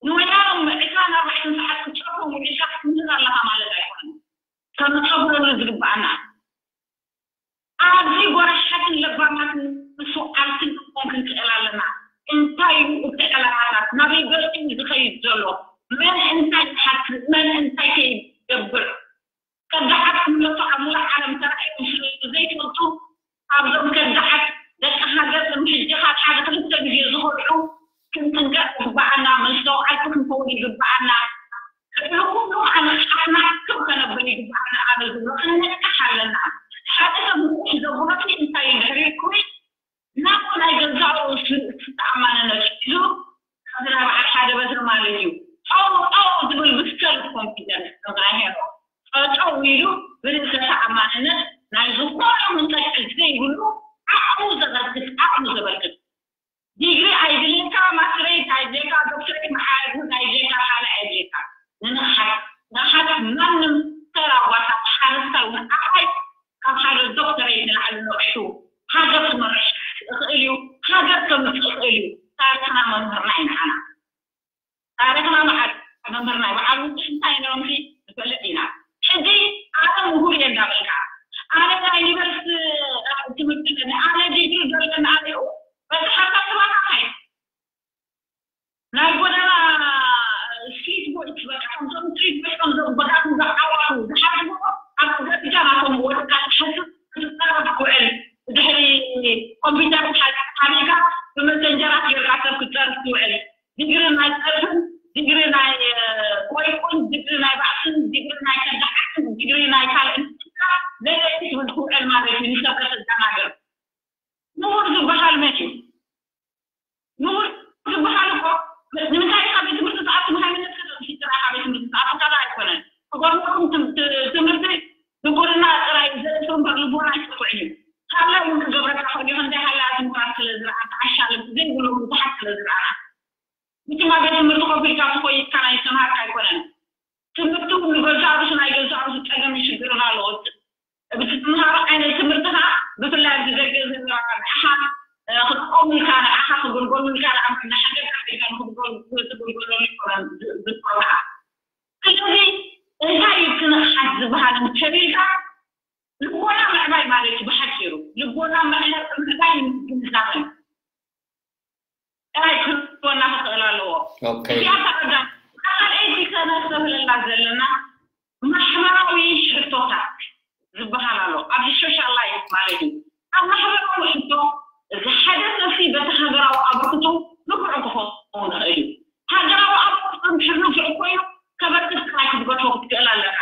ንወያኖም ዕስራን ኣርባዕተን ሰዓት ክትጸርፎም ውዒልካ ክትምህር ኣለኻ ማለት ኣይኮነን። ከነስተብህለሉ ዝግብኣና ኣብዚ ጎራሓትን ለባማትን ምስ ወዓልትን ክንኮን ክንክእል ኣለና። እንታይ እዩ እቲ ዕላማታት? ናበይ ገጹ እዩ ዝኸይድ ዘሎ? መን እንታይ ይሓስብ? መን እንታይ ከይገብር? ከዳዓት ክምለሱ ኣብ ሙሉእ ዓለም ተራእዮም ስለ ዘይፈልጡ፣ ኣብዞም ከዳዓት ደቂ ሃገር፣ ከም ሕጂ ካብ ሓደ ክልተ ግዜ ዝኸድዑ ክንጥንቀቕ ይግብኣና፣ መስተውዓልቲ ክንከውን ይግብኣና። ልዕሊ ኩሉ ከዓ ንቕሓትና ክብ ከነብል ይግብኣና። ኣነ ዝብሎ ክንነቅሕ ኣለና። ሓደ ሰብ ንቑሕ ዘብሎ እንታይ እዩ ድሕሪ ኢልኩ ናብ ናይ ገዛኡ ስ-፣ ዝተኣማንነት ሒዙ፣ ከምዚ ናይ በዓል ሓደ በትሪ ማለት እዩ። ጠው፣ ጠው ዝብል ብስከል ኮንፊደንስ፣ ከምዚ ናይ ሄኖክ። ጠጠው ኢሉ ብርእሰ ተኣማንነት ናይ ዝኾነ መንቀጭ ዘይብሉ ዓቕሙ ዘበርክት፣ ዓቕሙ ዘበርክት። ዲግሪ ኣይድልየካ፣ ማስትሬት ኣይድልየካ፣ ዶክትሬት መዓርግ ኣይድልየካ፣ ካልእ ኣይድልየካ። ንንቕሓት፣ ንቕሓት ማንም ተራ ጓሳ ሓረስታይ እውን ዓባይ ካብ ሓደ ዶክተሬት ንላዕሊ ነቒሑ ሃገር ክመርሕ ይኽእል እዩ፣ ሃገር ከምፅእ ይኽእል እዩ። ታሪኽና መምህርና እዩ ንዓና። ታሪኽና መዓት መምህርና እዩ። በዓል ውፅእ እንታይ ነሮምሲ ንፈልጥ ኢና። ሕጂ ኣነ ምሁር እየ እንዳበልካ፣ ኣነ ናይ ዩኒቨርሲቲ ትምህርቲ ኣለኒ፣ ኣነ ዲግሪ ዘለኒ፣ ኣነ በቃ ሓሳብ ትባካ ናይ ጎደና ስትሪት ቦይስ፣ በቃ ከምዞም ስትሪት ቦይስ፣ ከምዞም ጎዳኑ ዝዓዋሩ ዝሓስቡ፣ ኣብ ደረጃ ናቶም ወድቃ ትሓስብ ክትጸረፍ ትውዕል። ድሕሪ ኮምፒውተር ሓቢርካ ብመሰንጀራት ጌርካ ሰብ ክትጸርፍ ትውዕል። ዲግሪ ናይ ጸርፍን፣ ዲግሪ ናይ፣ እ፣ ቆይቁን፣ ዲግሪ ናይ ባእስን፣ ዲግሪ ናይ ከዳዓትን፣ ዲግሪ ናይ ካልእ፣ ለለይቲ ትብል ትውዕል ማለት እዩ። ንሰብ ከተደናግር። ምሁር ዝበሃል መን እዩ? ምሁር ዝበሃል እኮ ንምንታይ ኢኻ ቤት ትምህርቲ ትኣቱ? ንሃይማኖትካ ተምሲ ጥራይ ኢኻ ቤት ትምህርቲ ትኣቱ? ካልእ ኣይኮነን። ክገርመኩም ትም-፣ ት-፣ ትምህርቲ ድንቁርና ጥራይ እዩ ዘጥፍእ እምበር ልቦና ኣይጠፍዕን እዩ። ካልእ እውን ክገብረካ ክእል እዩ። ከምዚ ሃላያት ምሁራት ስለ ዝረኣኻ፣ ዓሻ ልቢ ዘይብሎም ብዙሓት ስለ ዝረኣኻ። ብትማ ቤት ትምህርቲ ኮፍ ኢልካ ትኾይድካ ናይ ዝተምሃርካ ኣይኮነን። ትምህርቲ እውን ንገዛእ ርእሱ ናይ ገዛእ ርእሱ ጸገምን ሽግርን ኣለዎ። እቲ ትምሃሮ ዓይነት ትምህርቲ ኸዓ ብፍላይ ኣብዚ ደገ ዘለኻ ንዓኻ፣ እ፣ ክጥቀሙልካ፣ ንዓኻ ክግልገሉልካ ደኣ እምበር ንሓገርካ ጌርካ ንኽትገል-፣ ክትግልገለሉ ኣይኮነን ዝ-፣ ዝገብሩኻ። ስለዚ እንታይ እዩ እቲ ንቕሓት ዝበሃል እንተሪእካ ልቦና ምዕባይ ማለት እዩ ብሓፂሩ። ልቦና ምዕባይ ግንዛበ ጥራይ ክህልወና ክኽእል ኣለዎ። ኦኬ። እዚኣ እታ ቀዳም-፣ እታ ካልኣይቲ ከነስተብህለላ ዘለና ማሕበራዊ ሕቶታት ዝበሃል ኣሎ። ኣብዚ ሶሻል ላይፍ ማለት እዩ። ኣብ ማሕበራዊ ሕቶ እዚ ሓደ ሰብሲ በቲ ሃገራዊ ኣበርክቶ ንፉዕ ክኸውን ይኽእል እዩ። ሃገራዊ ኣበርክቶ እንድሕር ንፉዕ ኮይኑ ከበርክት ጥራይ ክትገድፎ ክትክእል ኣለካ።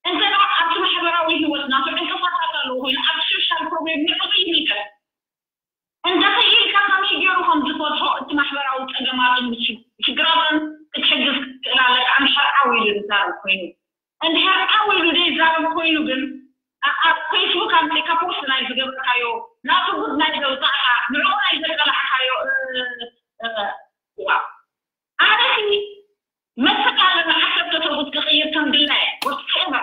እንተ ደኣ ኣብቲ ማሕበራዊ ህይወት ናቱ ዕንቅፋታት ኣለዎ ኮይኑ፣ ኣብ ሶሻል ፕሮብሌም ንዕኡ ይምልከት። እንተ ክኢልካ ከመይ ገይሩ ከም ዝፈትሖ እቲ ማሕበራዊ ጸገማትን ሽግ-፣ ሽግራትን ክትሕግዝ ክትክእል ኣለካ፣ ኣምሓር ዓው ኢሉ ዝዛረብ ኮይኑ። እንድሕር ዓው ኢሉ ዘይዛረብ ኮይኑ ግን፣ ኣ-፣ ኣብ ፌስቡክ ኣምጺእካ ፖስት ናይ ዝገበርካዮ፣ ናቱ ጉድ ናይ ዘውጻእካ፣ ንዕኡ ናይ ዘቃላዕካዮ፣ እ፣ እ፣ ዋ። ኣነሲ መስል ኣለና፣ ዓሰርተ ሰብኡት ክቕይር ከም ድላየ፣ whatever።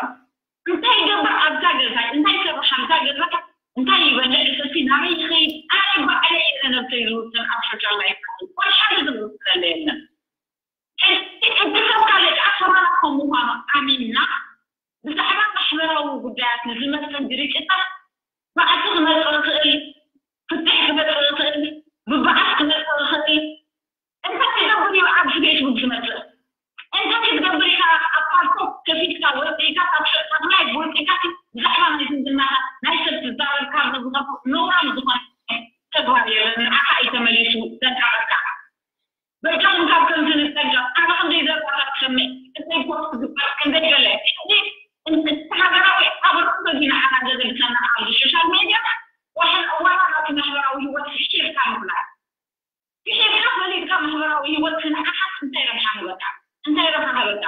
እንታይ ይገብር ኣብዛ ገዛ፣ እንታይ ይሰርሕ ኣብዛ ገዛ፣ እንታይ ይበልዕ፣ እዚ ናበይ ይኸይድ፣ ኣነ ባዕለይ እየ ነብሰይ ዝውስን፣ ኣብ ሶሻል ላይፍ ወላ ሓደ ዝውስነለ የለን። ሕጂ እቲ ሰብ ካልእ ደኣ ከማና ከም ምዃኑ ኣሚንና፣ ብዛዕባ ማሕበራዊ ጉዳያት ንዝመጽእ ግርጭታት ባእሲ ክመጽእ ይኽእል፣ ዘገድሰና ኣብዚ ሶሻል ሜድያ ዋላ ናቱ ማሕበራዊ ህይወት ፍሽልካ ምብላዕ። ፍሽልካ ፈሊጥካ ማሕበራዊ ህይወት ክንዓሓት እንታይ ረብሓ ነበካ? እንታይ ረብሓ ነበካ?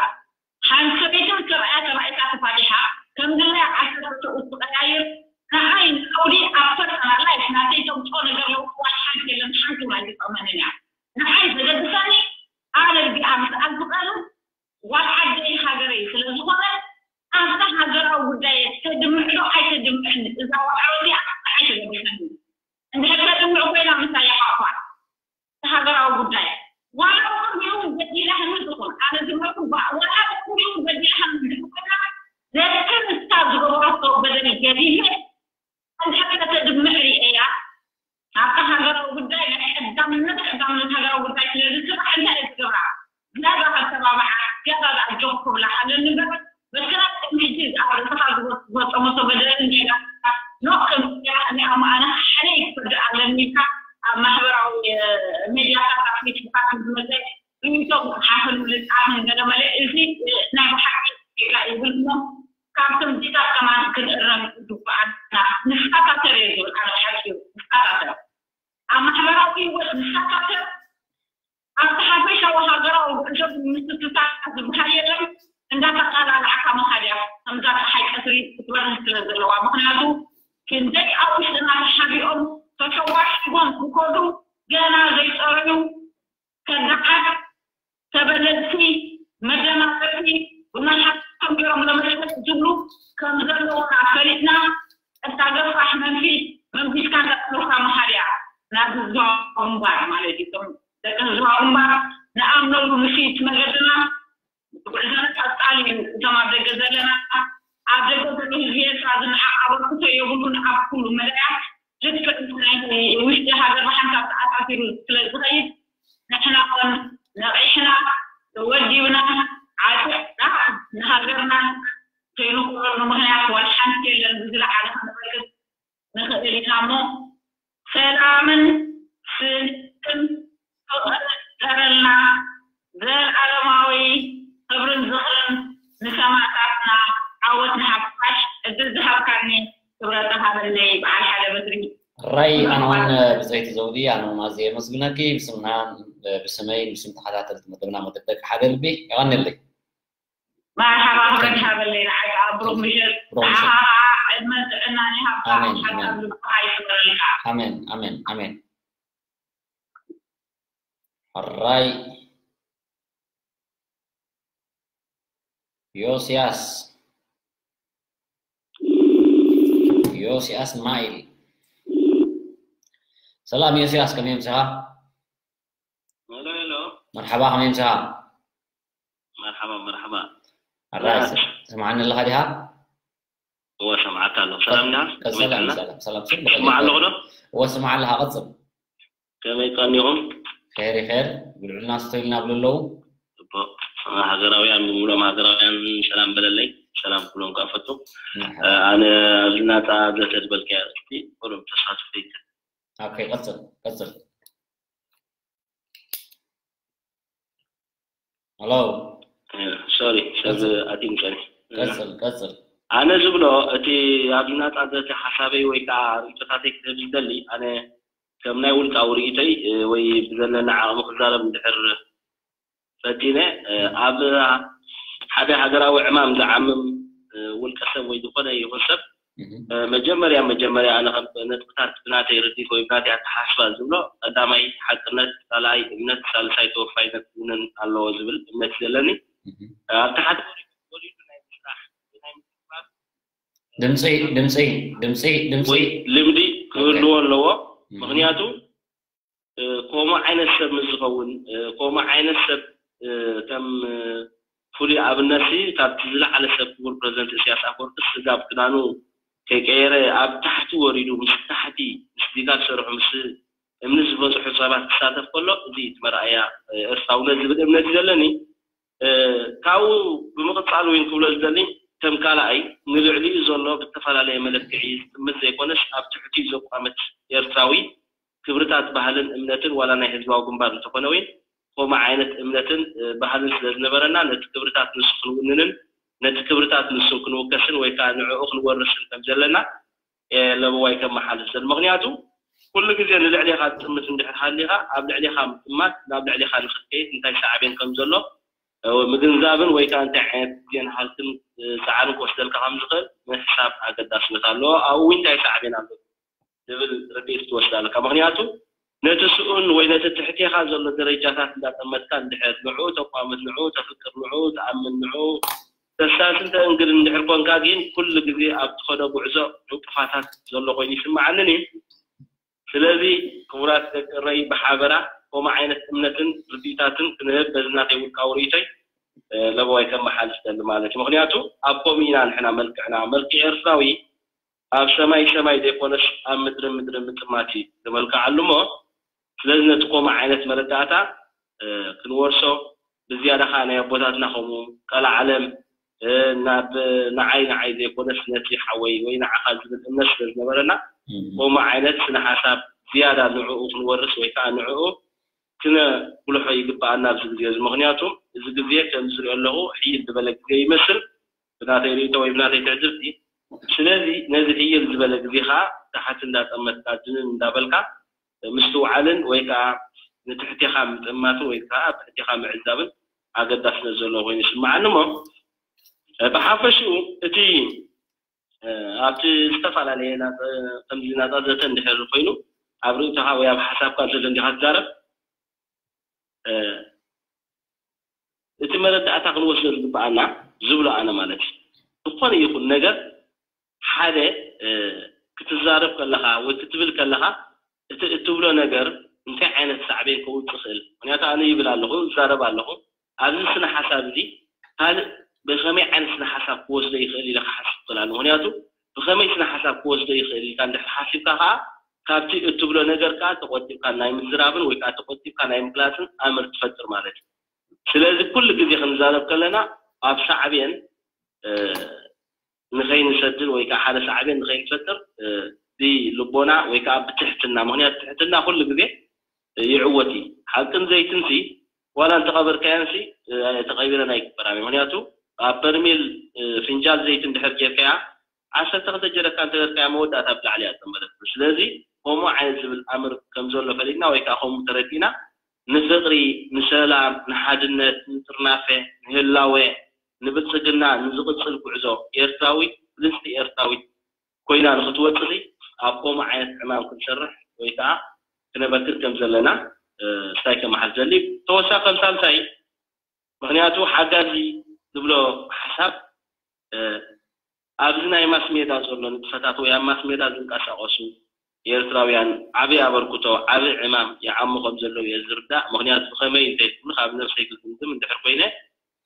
ሓንቲ ሰበይትን ሰብኣያ ተባኢካ ተፋቲሓ ከም ገለ ዓሰርተ ሰብኡት ትቐያይር። ንዓይ ንዓውዲ ኣብ ፐርሰናል ላይፍ ናተይ ተምፅኦ ነገር ለውጢ ዋላ ሓንቲ የለን። ሓንቲ ዋላ ይጠቕመንን እያ። ንዓይ ዘገድሰኒ ኣነ እዚኣ ምስኣል ዝቐርብ ጓል ዓደይ ሃገረይ ስለ ዝኾነ ኣብታ ሃገራዊ ጉዳይ ተድምዕ ዶ ኣይተድምዕን እዛ ዋዕሮ እዚኣ ኣይተገድሰኒ። እንድሕር ተድምዕ ኮይና ምሳይ ይሓቑፋ። ሃገራዊ ጉዳይ ዋላ ኩሉ በዲላህኒ ትኹን ኣነ ዝብለኩም ዋላ ኩሉ በዲላህኒ ትኹን ዘትክን እስታ ዝገበረቶ በደል ገዲፈ እንድሕር ከተድምዕ ርእያ ኣብታ ሃገራዊ ጉዳይ ናይ ቀዳምነት ቀዳምነት ሃገራዊ ጉዳይ ስለ ዝስራሕ እንታይ እየ ዝገብራ? ገዛ ከተባብዓ ገዛ ኣጆኹ ክብላ ኣለኒ እምበር በክራት ከም ሕጂ ኣብ ርእስኻ ዝጎ- ዝጎጠመቶ በደልን ጌጋ ኖ ከም ጌጋ እኔ ኣብ መኣና ሓደ ይክፈድ ኣለኒ ኢልካ ኣብ ማሕበራዊ ሜድያታት ኣብ ፌስቡካት ዝመፀ ርእይቶ ሓፍን ምልጣፍን ገለ መለ እዚ ናይ ብሓቂ ጌጋ ይብል እሞ ካብ ከምዚታት ከማን ክንእረም ይግብኣና። ንስኻታተር እየ ዝብል ኣነ ሓቂ እዩ። ንስኻታተር ኣብ ማሕበራዊ ህይወት ንስኻታተር ኣብቲ ሓፈሻዊ ሃገራዊ ጉዕዞ ብምስክታት ዝበሃል የለን። እንዳተቃላልዓካ መኻድያ ከምዛ ፀሓይ ቀትሪ ክትበርህ ስለ ዘለዋ ምክንያቱ ክንደይ ኣብ ውሽጥና ተሓቢኦም ተሸዋሽጎም ዝኮዱ ገና ዘይፀረዩ ከዳዓት ተበለፅቲ መደናገርቲ ብመሓቶም ገይሮም ለመሸጥ ዝብሉ ከም ዘለውና ፈሊጥና እታ ገፋሕ መንፊት መንፊትካ እንዳጥሉካ መሃርያ ናብ ህዝባዊ ግንባር ማለት እዩ። እቶም ደቂ ህዝባዊ ግንባር ንኣምነሉ ምሽት መገድና ጉዕዞና ቀጻሊ እዩ። እቶም ኣብ ደገ ዘለና ኣብ ደገ ዘሎ ህዝቢ ኤርትራ ዝነዓቕ ኣበርክቶ የብሉን ኣብ ኩሉ መዳያት ልክዕ ምስ ናይ ውሽጢ ሃገር ብሓንሳብ ተኣሳሲሩ ስለ ዝኸይድ ንሕና እውን ነቒሕና ወዲብና ዓጢቕና ንሃገርና ከይንኩረሉ ምኽንያት ዋላ ሓንቲ የለን። ብዝለዓለ ክንበርክት ንኽእል ኢና እሞ ሰላምን ስኒትን ፍቕርን ይፍጠረልና። ዘላለማዊ ክብርን ዝኽርን ንሰማእታትና። ዓወት ንሓፋሽ። ዕድል ዝሃብካኒ ክብረት ሃበለይ በዓል ሓደ በትሪ። ራይ ኣነ እውን ብፀይቲ ዘውዲ ኣነ እውን ኣዝየ የመስግነኪ ብስምና ብስመይ ብስም ተኸታተልቲ መደብና መደብ ደቂ ሓደ ልቢ የቐንየለይ። መርሓባ ክብረት ሃበለይ ንዓይ ከዓ ብሩክ ምሸት። ንዓኻ ከዓ ዕድመን ጥዕናን ይሃብካ። ሓሳብ ልብኻ ይስመረልካ። ኣሜን ኣሜን ኣሜን። ሕራይ ዮስያስ ዮስያስ ማይል ሰላም ዮስያስ ከመይ ምሳኻ? ሄሎ ሄሎ መርሓባ ከመይ ምሳኻ? መርሓባ መርሓባ። ኣራይ ሰማዓኒ ኣለኻ ዲኻ? እወ ሰምዓካ ኣለኹ። ሰላም ዲኻ? ከመይ ቀጽል ጥዕና? ሰላም ሰላም ስም ትስማዕ ኣለኹ ዶ? እወ ስማዕ ኣለኻ ቀጽል። ከመይ ቀኒኹም? ኸይር ኸይር ብልዑልና ስቶይ ኢልና ብሉ ኣለዉ። ጽቡቕ ሃገራውያን ብምሉኦም ሃገራውያን ሰላም በለለይ። ሰላም ክብሎም ከኣ ፈቱ። ኣነ ኣብዚ ናጻ ዘተ ዝበልካያ ኣርእስቲ ኩሎም ተሳትፎ ይከ ኦኬ ቀጽል ቀጽል። ሄሎ ሶሪ ሰብ ኣትዩ ምጸኒ ቀጽል ቀጽል ኣነ ዝብሎ እቲ ኣብዚ ናጻ ዘተ ሓሳበይ ወይ ከዓ ርእቶታተይ ክህብ ዝደሊ ኣነ ከም ናይ ውልቃዊ ርእይቶይ ወይ ብዘለኒ ዓቕሚ ክዛረብ እንድሕር ፈቲነ ኣብ ሓደ ሃገራዊ ዕማም ዝዓምም ውልቀ ሰብ ወይ ዝኾነ ይኹን ሰብ መጀመርያ መጀመርያ ኣነ ከም ነጥብታት ብናተይ ርዲት ወይ ብናተይ ኣተሓስባ ዝብሎ ቀዳማይ ሓቅነት፣ ካልኣይ እምነት፣ ሳልሳይ ተወፋይነት ክውነን ኣለዎ ዝብል እምነት እዩ ዘለኒ። ኣብቲ ሓደ ወሪዱ ወሪዱ ናይ ምስራሕ ናይ ምትግባር ድምፂ ድምፂ ድምፂ ድምፂ ወይ ልምዲ ክህልዎ ኣለዎ። ምክንያቱ ከምኡ ዓይነት ሰብ ምስ ዝኸውን ከምኡ ዓይነት ሰብ ከም ፍሉይ ኣብነት ሲ ካብቲ ዝለዓለ ሰብ ክቡር ፕረዚደንት እስያስ ኣፈወርቂ ስጋብ ክዳኑ ከይቀየረ ኣብ ታሕቲ ወሪዱ ምስ ታሕቲ ምስ ዲጋ ዝሰርሑ ምስ እምኒ ዝበፅሑ ሰባት ክሳተፍ ከሎ እዚ እቲ መርኣያ ኤርትራውነት ዝብል እምነት እዩ ዘለኒ። ካብኡ ብምቕፃል እውን ክብሎ ዝደሊ ከም ካልኣይ ንልዕሊኡ ዘሎ ብዝተፈላለየ መለክዒ ዝጥምት ዘይኮነስ ኣብ ትሕቲኡ ዘቋመት ኤርትራዊ ክብርታት ባህልን እምነትን ዋላ ናይ ህዝባዊ ግንባር እንተኾነ እውን ከምኡ ዓይነት እምነትን ባህልን ስለ ዝነበረና ነቲ ክብርታት ንሱ ክንውንንን ነቲ ክብርታት ንሱ ክንውከስን ወይ ከዓ ንዕኡ ክንወርስን ከም ዘለና ለበዋይ ከመሓልፍ ዘል ምክንያቱ ኩሉ ግዜ ንልዕሌኻ ትጥምት እንድሕር ሃሊኻ ኣብ ልዕሌኻ ምጥማት ናብ ልዕሌኻ ንክትከይድ እንታይ ሳዕቤን ከም ዘሎ ምግንዛብን ወይ ከዓ እንታይ ዓይነት ግዜን ሃልክን ፃዕርን ክወስደልካ ከም ዝኽእል ምሕሳብ ኣገዳስነት ኣለዎ። ኣብኡ እንታይ ሳዕቤን ኣሎ ዝብል ርድኢት ክትወስድ ኣለካ። ምክንያቱ ነቲ ስኡን ወይ ነቲ ትሕቴኻ ዘሎ ደረጃታት እንዳጠመትካ እንድሕር ንዕኡ ተቋምት፣ ንዕኡ ተፍቅር፣ ንዕኡ ተኣምን፣ ንዕኡ ተሳስን ተእንግድ እንድሕር ኮንካ ግን ኩሉ ግዜ ኣብ ትኸዶ ጉዕዞ ዕንቅፋታት ዘሎ ኮይኑ ይስምዓንን እዩ። ስለዚ ክቡራት ደቂ ረይ ብሓበራ ከምኡ ዓይነት እምነትን ርድኢታትን ክንህብ በዚ ናተይ ውልቃዊ ርእይቶይ ለበዋይ ከመሓልፍ ደሊ ማለት እዩ። ምክንያቱ ኣብ ከምኡ ኢና ንሕና መልክዕና መልክዕ ኤርትራዊ ኣብ ሰማይ ሰማይ ዘይኮነስ ኣብ ምድሪ ምድሪ ምጥማት እዩ ዝመልክዓሉ እሞ ስለዚ ነቲ ከምኡ ዓይነት መረዳእታ ክንወርሶ ብዝያዳ ከዓ ናይ ኣቦታትና ከምኡ ቀላዓለም ናብ ንዓይ ንዓይ ዘይኮነስ ነቲ ሓወይ ወይ ንዓኻ ዝብል እምነት ስለ ዝነበረና ከምኡ ዓይነት ስነ ሓሳብ ዝያዳ ንዕኡ ክንወርስ ወይ ከዓ ንዕኡ ክነ ጉልሖ ይግበኣና ኣብዚ ግዜ እዚ ምክንያቱ እዚ ግዜ ከም ዝሪኦ ኣለኹ ሕይል ዝበለ ግዜ ይመስል ብናተይ ርእቶ ወይ ብናተይ ትዕዝብቲ ስለዚ ነዚ ሕይል ዝበለ ግዜ ከዓ ታሕቲ እንዳጠመትካ ድንን እንዳበልካ ምስትውዓልን ወይ ከዓ ንትሕቴኻ ምጥማትን ወይ ከዓ ትሕቴኻ ምዕዛብን ኣገዳስነት ዘለዎ ኮይኑ ይስምዓኒ እሞ ብሓፈሽኡ እቲ ኣብቲ ዝተፈላለየ ከምዚ ናፃ ዘተ እንድሕር ኮይኑ ኣብ ርእቶኻ ወይ ኣብ ሓሳብካ ዘሎ እንዲኻ ትዛረብ እቲ መረዳእታ ክንወስዶ ዝግበኣና ዝብሎ ኣነ ማለት እዩ ዝኾነ ይኹን ነገር ሓደ ክትዛረብ ከለኻ ወይ ክትብል ከለኻ እቲ እትብሎ ነገር እንታይ ዓይነት ሳዕቤን ከውፅእ ይኽእል ምክንያቱ ኣነ ይብል ኣለኹ እዛረብ ኣለኹ ኣብዚ ስነ ሓሳብ እዚ ካልእ ብኸመይ ዓይነት ስነ ሓሳብ ክወስዶ ይኽእል ኢለ ክሓስብ ይኽእል ኣለኹ ምክንያቱ ብኸመይ ስነ ሓሳብ ክወስዶ ይኽእል ኢልካ እንድሕር ሓሲብካ ከዓ ካብቲ እትብሎ ነገር ከዓ ተቆጢብካ ናይ ምዝራብን ወይ ከዓ ተቆጢብካ ናይ ምግላፅን ኣምር ትፈጥር ማለት እዩ ስለዚ ኩሉ ግዜ ክንዛረብ ከለና ኣብ ሳዕቤን ንኸይንሰድን ወይ ከዓ ሓደ ሳዕቤን ንኸይንፈጥር ብልቦና ወይ ከዓ ብትሕትና ምክንያቱ ትሕትና ኩሉ ግዜ ይዕወት እዩ ሓቅን ዘይትን ሲ ዋላ እንተቐበርካየን ሲ ተቐቢረን ኣይግበራን እዩ ምክንያቱ ኣብ በርሜል ፍንጃል ዘይት እንድሕር ጌርካያ ዓሰርተ ክልተ ጀረካን ተገርካያ መወዳእታ ብላዕሊ እያ ዝጠመረት ስለዚ ከምኡ ዓይነት ዝብል ኣምር ከም ዘሎ ፈሊጥና ወይ ከዓ ከምኡ ተረዲእና ንፍቕሪ ንሰላም ንሓድነት ንጥርናፈ ንህላወ ንብልፅግና ንዝቕፅል ጉዕዞ ኤርትራዊት ብልፅቲ ኤርትራዊት ኮይና ንክትወፅእ ኣብ ከምኡ ዓይነት ዕማም ክንሰርሕ ወይ ከዓ ክነበክር ከም ዘለና ስታይ ከመሓል ዘሊ ተወሳኺ ከም ሳልሳይ ምክንያቱ ሓጋዚ ዝብሎ ሓሳብ ኣብዚ ናይ ማስ ሜዳ ዘሎ ንጥፈታት ወይ ኣብ ማስ ሜዳ ዝንቀሳቀሱ ኤርትራውያን ዓብይ ኣበርክቶ ዓብይ ዕማም ይዓሙ ከም ዘለዉ እየ ዝርዳእ ምክንያቱ ብከመይ እንተይትብሉ ካብ ነብሰይ ክግምግም እንድሕር ኮይነ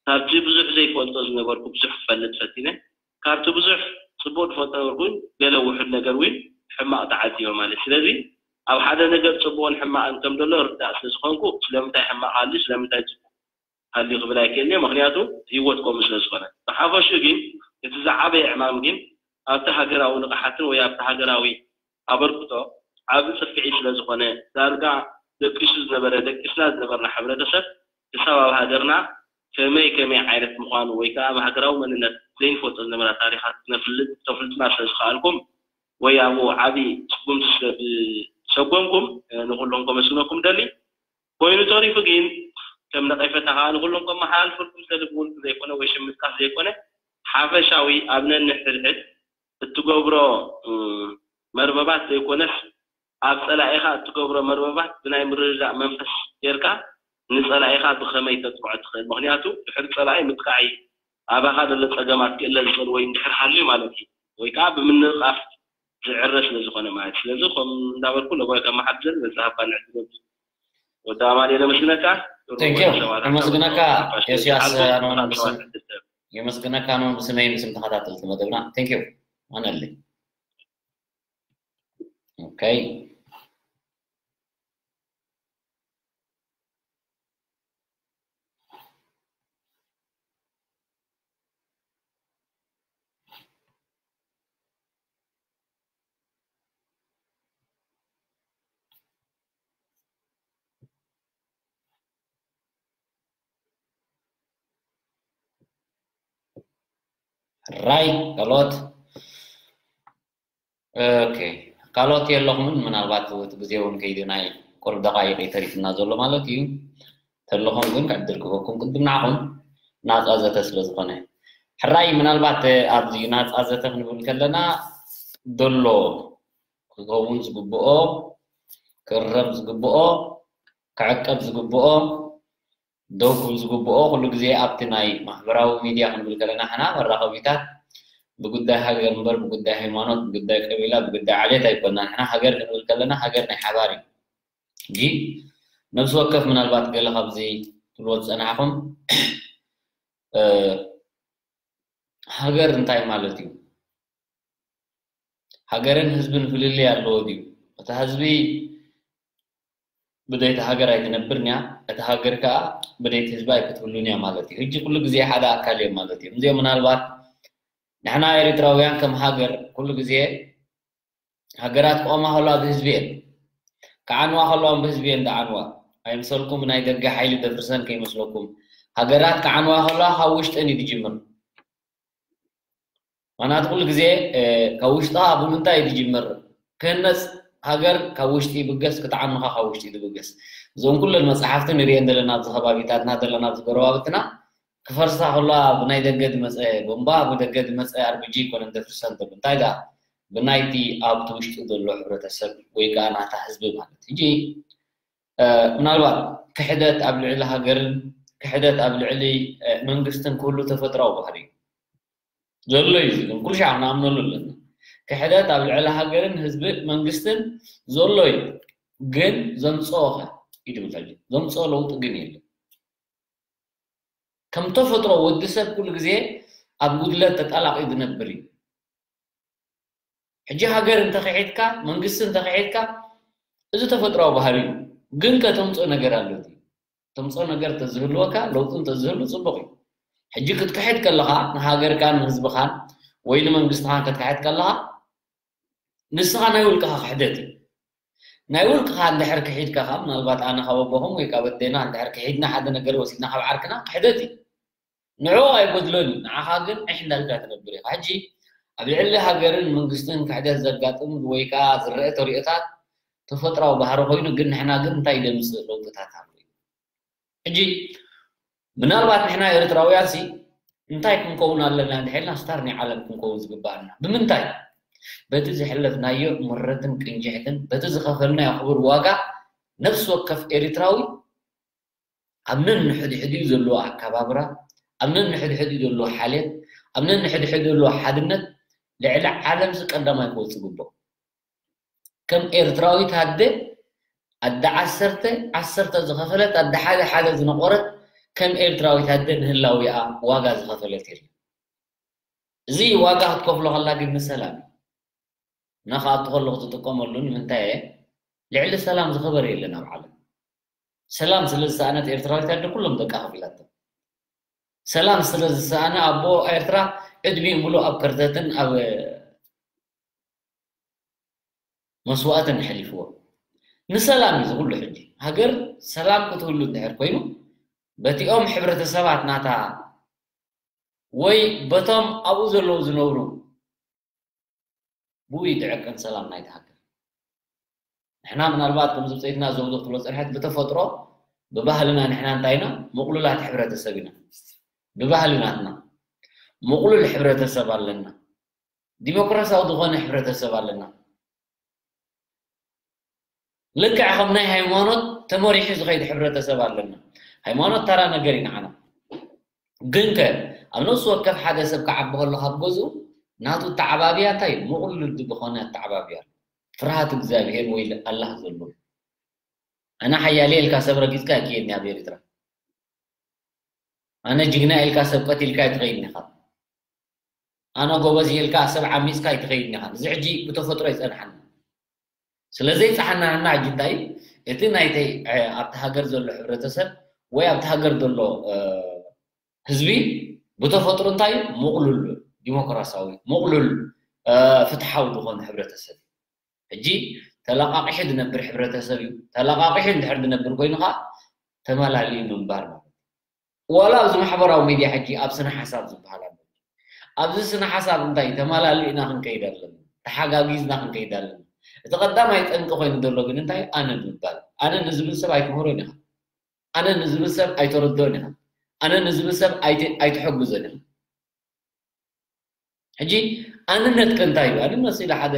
ካብቲ ብዙሕ ዘይፈልጦ ዝነበርኩ ብዙሕ ክፈልጥ ፈቲነ ካብቲ ብዙሕ ፅቡቅ ዝፈልጦ ነበርኩ እውን ገለ ውሑድ ነገር እውን ሕማቅ ተዓዚበ ማለት ስለዚ ኣብ ሓደ ነገር ፅቡቅን ሕማቅን ከም ዘሎ ርዳእ ስለዝኮንኩ ስለምንታይ ሕማቅ ሃልዩ ስለምንታይ ፅቡቅ ሃልዩ ክብል ኣይክእልን እየ ምክንያቱ ህይወት ከምኡ ስለዝኮነ ብሓፈሽኡ ግን እቲ ዝዓበየ ዕማም ግን ኣብቲ ሃገራዊ ንቕሓትን ወይ ኣብቲ ሃገራዊ ኣበርክቶ ዓቢ ጽፍዒ ስለዝኾነ ዳርጋ ደቂሱ ዝነበረ ደቂስና ዝነበርና ሕብረተሰብ ክሳብ ኣብ ሃገርና ከመይ ከመይ ዓይነት ምዃኑ ወይ ከዓ ኣብ ሃገራዊ መንነት ዘይንፈልጦ ዝነበራ ታሪኻት ክነፍልጥ ክተፍልጡና ስለዝኸኣልኩም ወይ ኣብኡ ዓቢ ስጉምቲ ስለዝሰጎምኩም ንኹሎም ከመስግነኩም ደሊ ኮይኑ ተሪፉ ግን ከም ነቐፈታ ከዓ ንኩሎም ከመሓላልፈልኩም ዝደሊ ብውልቂ ዘይኮነ ወይ ሽም ምጥቃስ ዘይኮነ ሓፈሻዊ ኣብ ነንሕድሕድ እትገብሮ መርበባት ዘይኮነስ ኣብ ፀላኢኻ እትገብሮ መርበባት ብናይ ምርድዳእ መንፈስ ጌርካ ንፀላኢኻ ብኸመይ ተጥቅዖ ትኽእል ምክንያቱ ድሕሪ ፀላኢ ምጥቃዕ እዩ ኣባኻ ዘሎ ፀገማት ክእለ ዝኽእል ወይ እንድሕር ሃልዩ ማለት እዩ ወይ ከዓ ብምንቕቓፍ ዝዕረ ስለ ዝኾነ ማለት ስለዚ ከም እንዳበልኩ ለቦይ ከመሓድር በዚ ሃባ ንዕድል ወዲ ኣማል የመስግነካ የመስግነካ ዮስያስ የመስግነካ ኖ ብስመይ ምስም ተኸታተልቲ መደብና ቴንክ ዩ ኣነሊ ኦኬ ራይ ካልኦት ኦኬ ካልኦት የለኹምን። ምናልባት እቲ ግዜ እውን ከይዲ ናይ ቁሩብ ደቃይቅ እዩ ተሪፍና ዘሎ ማለት እዩ። ተለኹም ግን ዕድል ክህበኩም ቅድም ንዓኹም ናፃ ዘተ ስለ ዝኾነ ሕራይ ምናልባት ኣብዚ ናፃ ዘተ ክንብል ከለና ዘሎ ክኸውን ዝግብኦ ክእረም ዝግብኦ ክዕቀብ ዝግብኦ ደው ክብል ዝግብኦ ኩሉ ግዜ ኣብቲ ናይ ማሕበራዊ ሚድያ ክንብል ከለና ሕና መራኸቢታት ብጉዳይ ሃገር እምበር ብጉዳይ ሃይማኖት ብጉዳይ ቀቢላ ብጉዳይ ዓሌት ኣይኮናን። ሕና ሃገር ክንብል ከለና ሃገር ናይ ሓባር እዩ። ሕጂ ነብሲ ወከፍ ምናልባት ገለ ካብዚ ትብልዎ ዝፀናሕኹም ሃገር እንታይ ማለት እዩ? ሃገርን ህዝብን ፍልልይ ኣለዎ ድዩ? እታ ህዝቢ ብደይቲ ሃገር ኣይትነብርን እያ፣ እታ ሃገር ከዓ ብደይቲ ህዝቢ ኣይክትህሉን እያ ማለት እዩ። ሕጂ ኩሉ ግዜ ሓደ ኣካል እዮም ማለት እዮም። እዚኦም ምናልባት ንሕና ኤርትራውያን ከም ሃገር ኩሉ ግዜ ሃገራት ክቆማ ከለዋ ብህዝቢ እየን ክዓንዋ ከለዋ ብህዝቢ እየን ዝዓንዋ። ኣይምሰልኩም ናይ ደገ ሓይሊ ደፍርሰን ከይመስለኩም። ሃገራት ክዓንዋ ከለዋ ካብ ውሽጠን እዩ ዝጅምር። ምክንያቱ ኩሉ ግዜ ካብ ውሽጥኻ ብምንታይ እዩ ዝጅምር? ክህነፅ ሃገር ካብ ውሽጢ ይብገስ፣ ክትዓኑ ከዓ ካብ ውሽጢ እዩ ዝብገስ። እዞም ኩለን መፅሓፍቲ ንሪኤን ዘለና ኣብዚ ከባቢታትና ዘለና ኣብዚ ጎረባብትና ክፈርሳ ከለዋ ብናይ ደገ ዝመፀ ቦምባ ብደገ ዝመፀ ኣርቢጂ ኣይኮነን ዘፍርሰን ዘሎ እንታይ ደኣ ብናይቲ ኣብቲ ውሽጢ ዘሎ ሕብረተሰብ ወይ ከዓ ናታ ህዝቢ ማለት ሕጂ ምናልባት ክሕደት ኣብ ልዕሊ ሃገርን ክሕደት ኣብ ልዕሊ መንግስትን ክህሉ ተፈጥራዊ ባህሪ እዩ ዘሎ እዩ ዝብል ኩሉ ሻዕ ክንኣምነሉ ኣለና። ክሕደት ኣብ ልዕሊ ሃገርን ህዝቢ መንግስትን ዘሎ እዩ ግን ዘምፅኦ ከ ይድብል ዘሎ ዘምፅኦ ለውጢ ግን የለን። ከም ተፈጥሮ ወዲ ሰብ ኩሉ ግዜ ኣብ ጉድለት ተጣላቒ ዝነብር እዩ። ሕጂ ሃገር እንተኽሒድካ መንግስቲ እንተኽሒድካ እዚ ተፈጥራዊ ባህሪ እዩ። ግን ከተምፅኦ ነገር ኣሎ። ተምፅኦ ነገር ተዝህልወካ ለውጢ እንተዝህሉ ፅቡቕ እዩ። ሕጂ ክትክሕድ ከለኻ ንሃገርካን ንህዝብኻን ወይ ንመንግስትኻን ክትክሕድ ከለኻ ንስኻ ናይ ውልቅኻ ክሕደት እዩ። ናይ ውልቅኻ እንድሕር ክሒድካ ካብ ምናልባት ኣነ ካብ ኣቦኹም ወይ ካብ ኣዴና እንድሕር ክሒድና ሓደ ነገር ወሲድና ካብ ዓርክና ክሕደት እዩ። ንዕኡ ኣይጎድሎን እዩ፣ ንዓኻ ግን ዕሕ እንዳልካ ትነብር ኢኻ። ሕጂ ኣብ ልዕሊ ሃገርን መንግስትን ክሕደት ዘጋጥም ወይ ከዓ ዝረአ ተሪኦታት ተፈጥራዊ ባህሪ ኮይኑ ግን ንሕና ግን እንታይ ደምፅእ ለውጥታት ኣሎ እዩ። ሕጂ ምናልባት ንሕና ኤርትራውያን ሲ እንታይ ክንከውን ኣለና እንድሕልና ስታር ናይ ዓለም ክንከውን ዝግባኣና ብምንታይ? በቲ ዝሕለፍናዮ ምረትን ቅንጅሕትን በቲ ዝኸፈልናዮ ክቡር ዋጋ ነፍሲ ወከፍ ኤርትራዊ ኣብ ነንሕድሕዲኡ ዘለዎ ኣከባብራ፣ ኣብ ነንሕድሕዲኡ ዘለዎ ሓልየት፣ ኣብ ነንሕድሕዲኡ ዘለዎ ሓድነት ልዕሊ ዓለምሲ ቀዳማይ ክወጽእ ይግብኦ። ከም ኤርትራዊት ኣደ ኣደ ዓሰርተ ዓሰርተ ዝኸፈለት ኣደ ሓደ ሓደ ዝነቆረት ከም ኤርትራዊት ኣደ ንህላዊኣ ዋጋ ዝኸፈለት የለን። እዚ ዋጋ ክትከፍሎ ከላ ግን ንሰላም እዩ። እና ክኣቱ ከለኹ ዝጥቀመሉ ንምንታይ እየ ልዕሊ ሰላም ዝኸበረ የለን ኣብ ዓለም። ሰላም ስለ ዝሰኣነት ኤርትራዊት ኣደ ኩሎም ደቃ ከፊላቶ። ሰላም ስለ ዝሰኣነ ኣቦ ኤርትራ ዕድሚኡ ሙሉእ ኣብ ከርተትን ኣብ መስዋእትን ኣሕሊፍዎ። ንሰላም እዩ ዝኩሉ ሕጂ። ሃገር ሰላም ክትህሉ እንድሕር ኮይኑ በቲኦም ሕብረተሰባት ናታ ወይ በቶም ኣብኡ ዘለዉ ዝነብሩ ብኡ ይትዕቅን ሰላም ናይቲ ሃገር። ንሕና ምናልባት ከምዚ ብፀይትና ዘውዞ ክትብሎ ፀንሐት ብተፈጥሮ ብባህልና ንሕና እንታይ ኢና ምቕሉላት ሕብረተሰብ ኢና። ብባህሊ ናትና ምቕሉል ሕብረተሰብ ኣለና። ዲሞክራሲያዊ ዝኾነ ሕብረተሰብ ኣለና። ልክዕ ከም ናይ ሃይማኖት ተመሪሑ ዝኸይድ ሕብረተሰብ ኣለና። ሃይማኖት ተራ ነገር እዩ ንዓና። ግን ከ ኣብ ነፍሲ ወከፍ ሓደ ሰብ ክዓቢ ከሎ ካብ ገዝኡ ናቱ ኣተዓባብያ እንታይ እዩ? ምቕሉል ዝኾነ ኣተዓባብያ ኣሎ። ፍርሃት እግዚኣብሔር ወይ ኣላህ ዘሎ። ኣነ ሓያል እየ ኢልካ ሰብ ረጊፅካ ኣይክየድን ኣብ ኤርትራ። ኣነ ጅግና ኢልካ ሰብ ቀቲልካ ኣይትኸይድን ኢኻ። ኣነ ጎበዝ እየ ኢልካ ሰብ ዓሚፅካ ኣይትኸይድን ኢኻ። እዚ ሕጂ ብተፈጥሮ ይፀንሓና። ስለዘይፀሓናና ሕጂ እንታይ እቲ ናይተይ ኣብቲ ሃገር ዘሎ ሕብረተሰብ ወይ ኣብቲ ሃገር ዘሎ ህዝቢ ብተፈጥሮ እንታይ እዩ? ምቕሉል ዲሞክራሲያዊ ምቕሉል ፍትሓዊ ዝኾነ ሕብረተሰብ እዩ። ሕጂ ተለቓቒሑ ዝነብር ሕብረተሰብ እዩ። ተለቓቒሑ እንድሕር ዝነብር ኮይኑ ከዓ ተመላሊኡ ምንባር ማለት እዩ። ዋላ ኣብዚ ማሕበራዊ ሚድያ ሕጂ ኣብ ስነ ሓሳብ ዝበሃል ኣሎ። ኣብዚ ስነ ሓሳብ እንታይ ተማላሊእና ክንከይድ ኣለና፣ ተሓጋጊዝና ክንከይድ ኣለና። እቲ ቀዳማይ ጠንቂ ኮይኑ ዘሎ ግን እንታይ ኣነ ምባል። ኣነ ንዝብል ሰብ ኣይትምህሮን ኢኻ። ኣነ ንዝብል ሰብ ኣይተረድኦን ኢኻ። ኣነ ንዝብል ሰብ ኣይተ- ኣይትሕግዞን ኢኻ። ሕጂ ኣንነት ከ እንታይ እዩ? ኣንነት ስለ ሓደ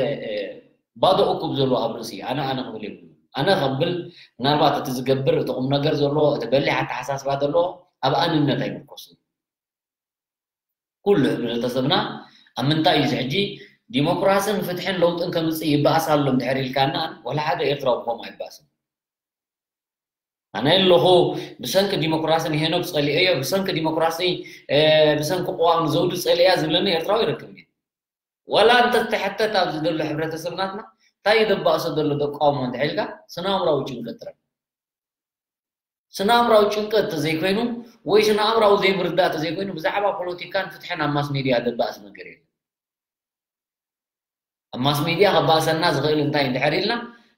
ባዶ እኩብ ዘሎ ኣብ ርእሲ ኣነ ኣነ ክብል የብሉ። ኣነ ከብል ምናልባት እቲ ዝገብር እቲ ቁም ነገር ዘለዎ እቲ በሊሕ ኣተሓሳስባ ዘለዎ ኣብ ኣንነት ኣይምርኮስን። ኩሉ ህብረተሰብና ኣብ ምንታይ እዩ ሕጂ ዲሞክራስን ፍትሕን ለውጥን ከምፅእ ይበኣስ ኣሎ እንድሕር ኢልካና ወላ ሓደ ኤርትራዊ ብኸምኡ ኣይበኣስን። ኣነ ኣለኹ ብሰንኪ ዲሞክራሲ ንሄኖክ ጸሊኤዮ ብሰንኪ ዲሞክራሲ ብሰንኪ ቅዋም ንዘውዱ ጸሊእያ ዝብለኒ ኤርትራዊ ይረክብ እዩ። ወላ እንተተሐተት ኣብዚ ዘሎ ሕብረተሰብ ናትና እንታይ እዩ ዘባእሶ ዘሎ ተቃውሞ እንድሕር ኢልካ ስነ ኣእምራዊ ጭንቀት ጥራይ። ስነ ኣእምራዊ ጭንቀት ተዘይኮይኑ ወይ ስነ ኣእምራዊ ዘይምርዳእ ተዘይኮይኑ ብዛዕባ ፖለቲካን ፍትሕን ኣብ ማስ ሚድያ ዘባእስ ነገር የለን። ኣብ ማስ ሚድያ ከባእሰና ዝኽእል እንታይ እንድሕር ኢልና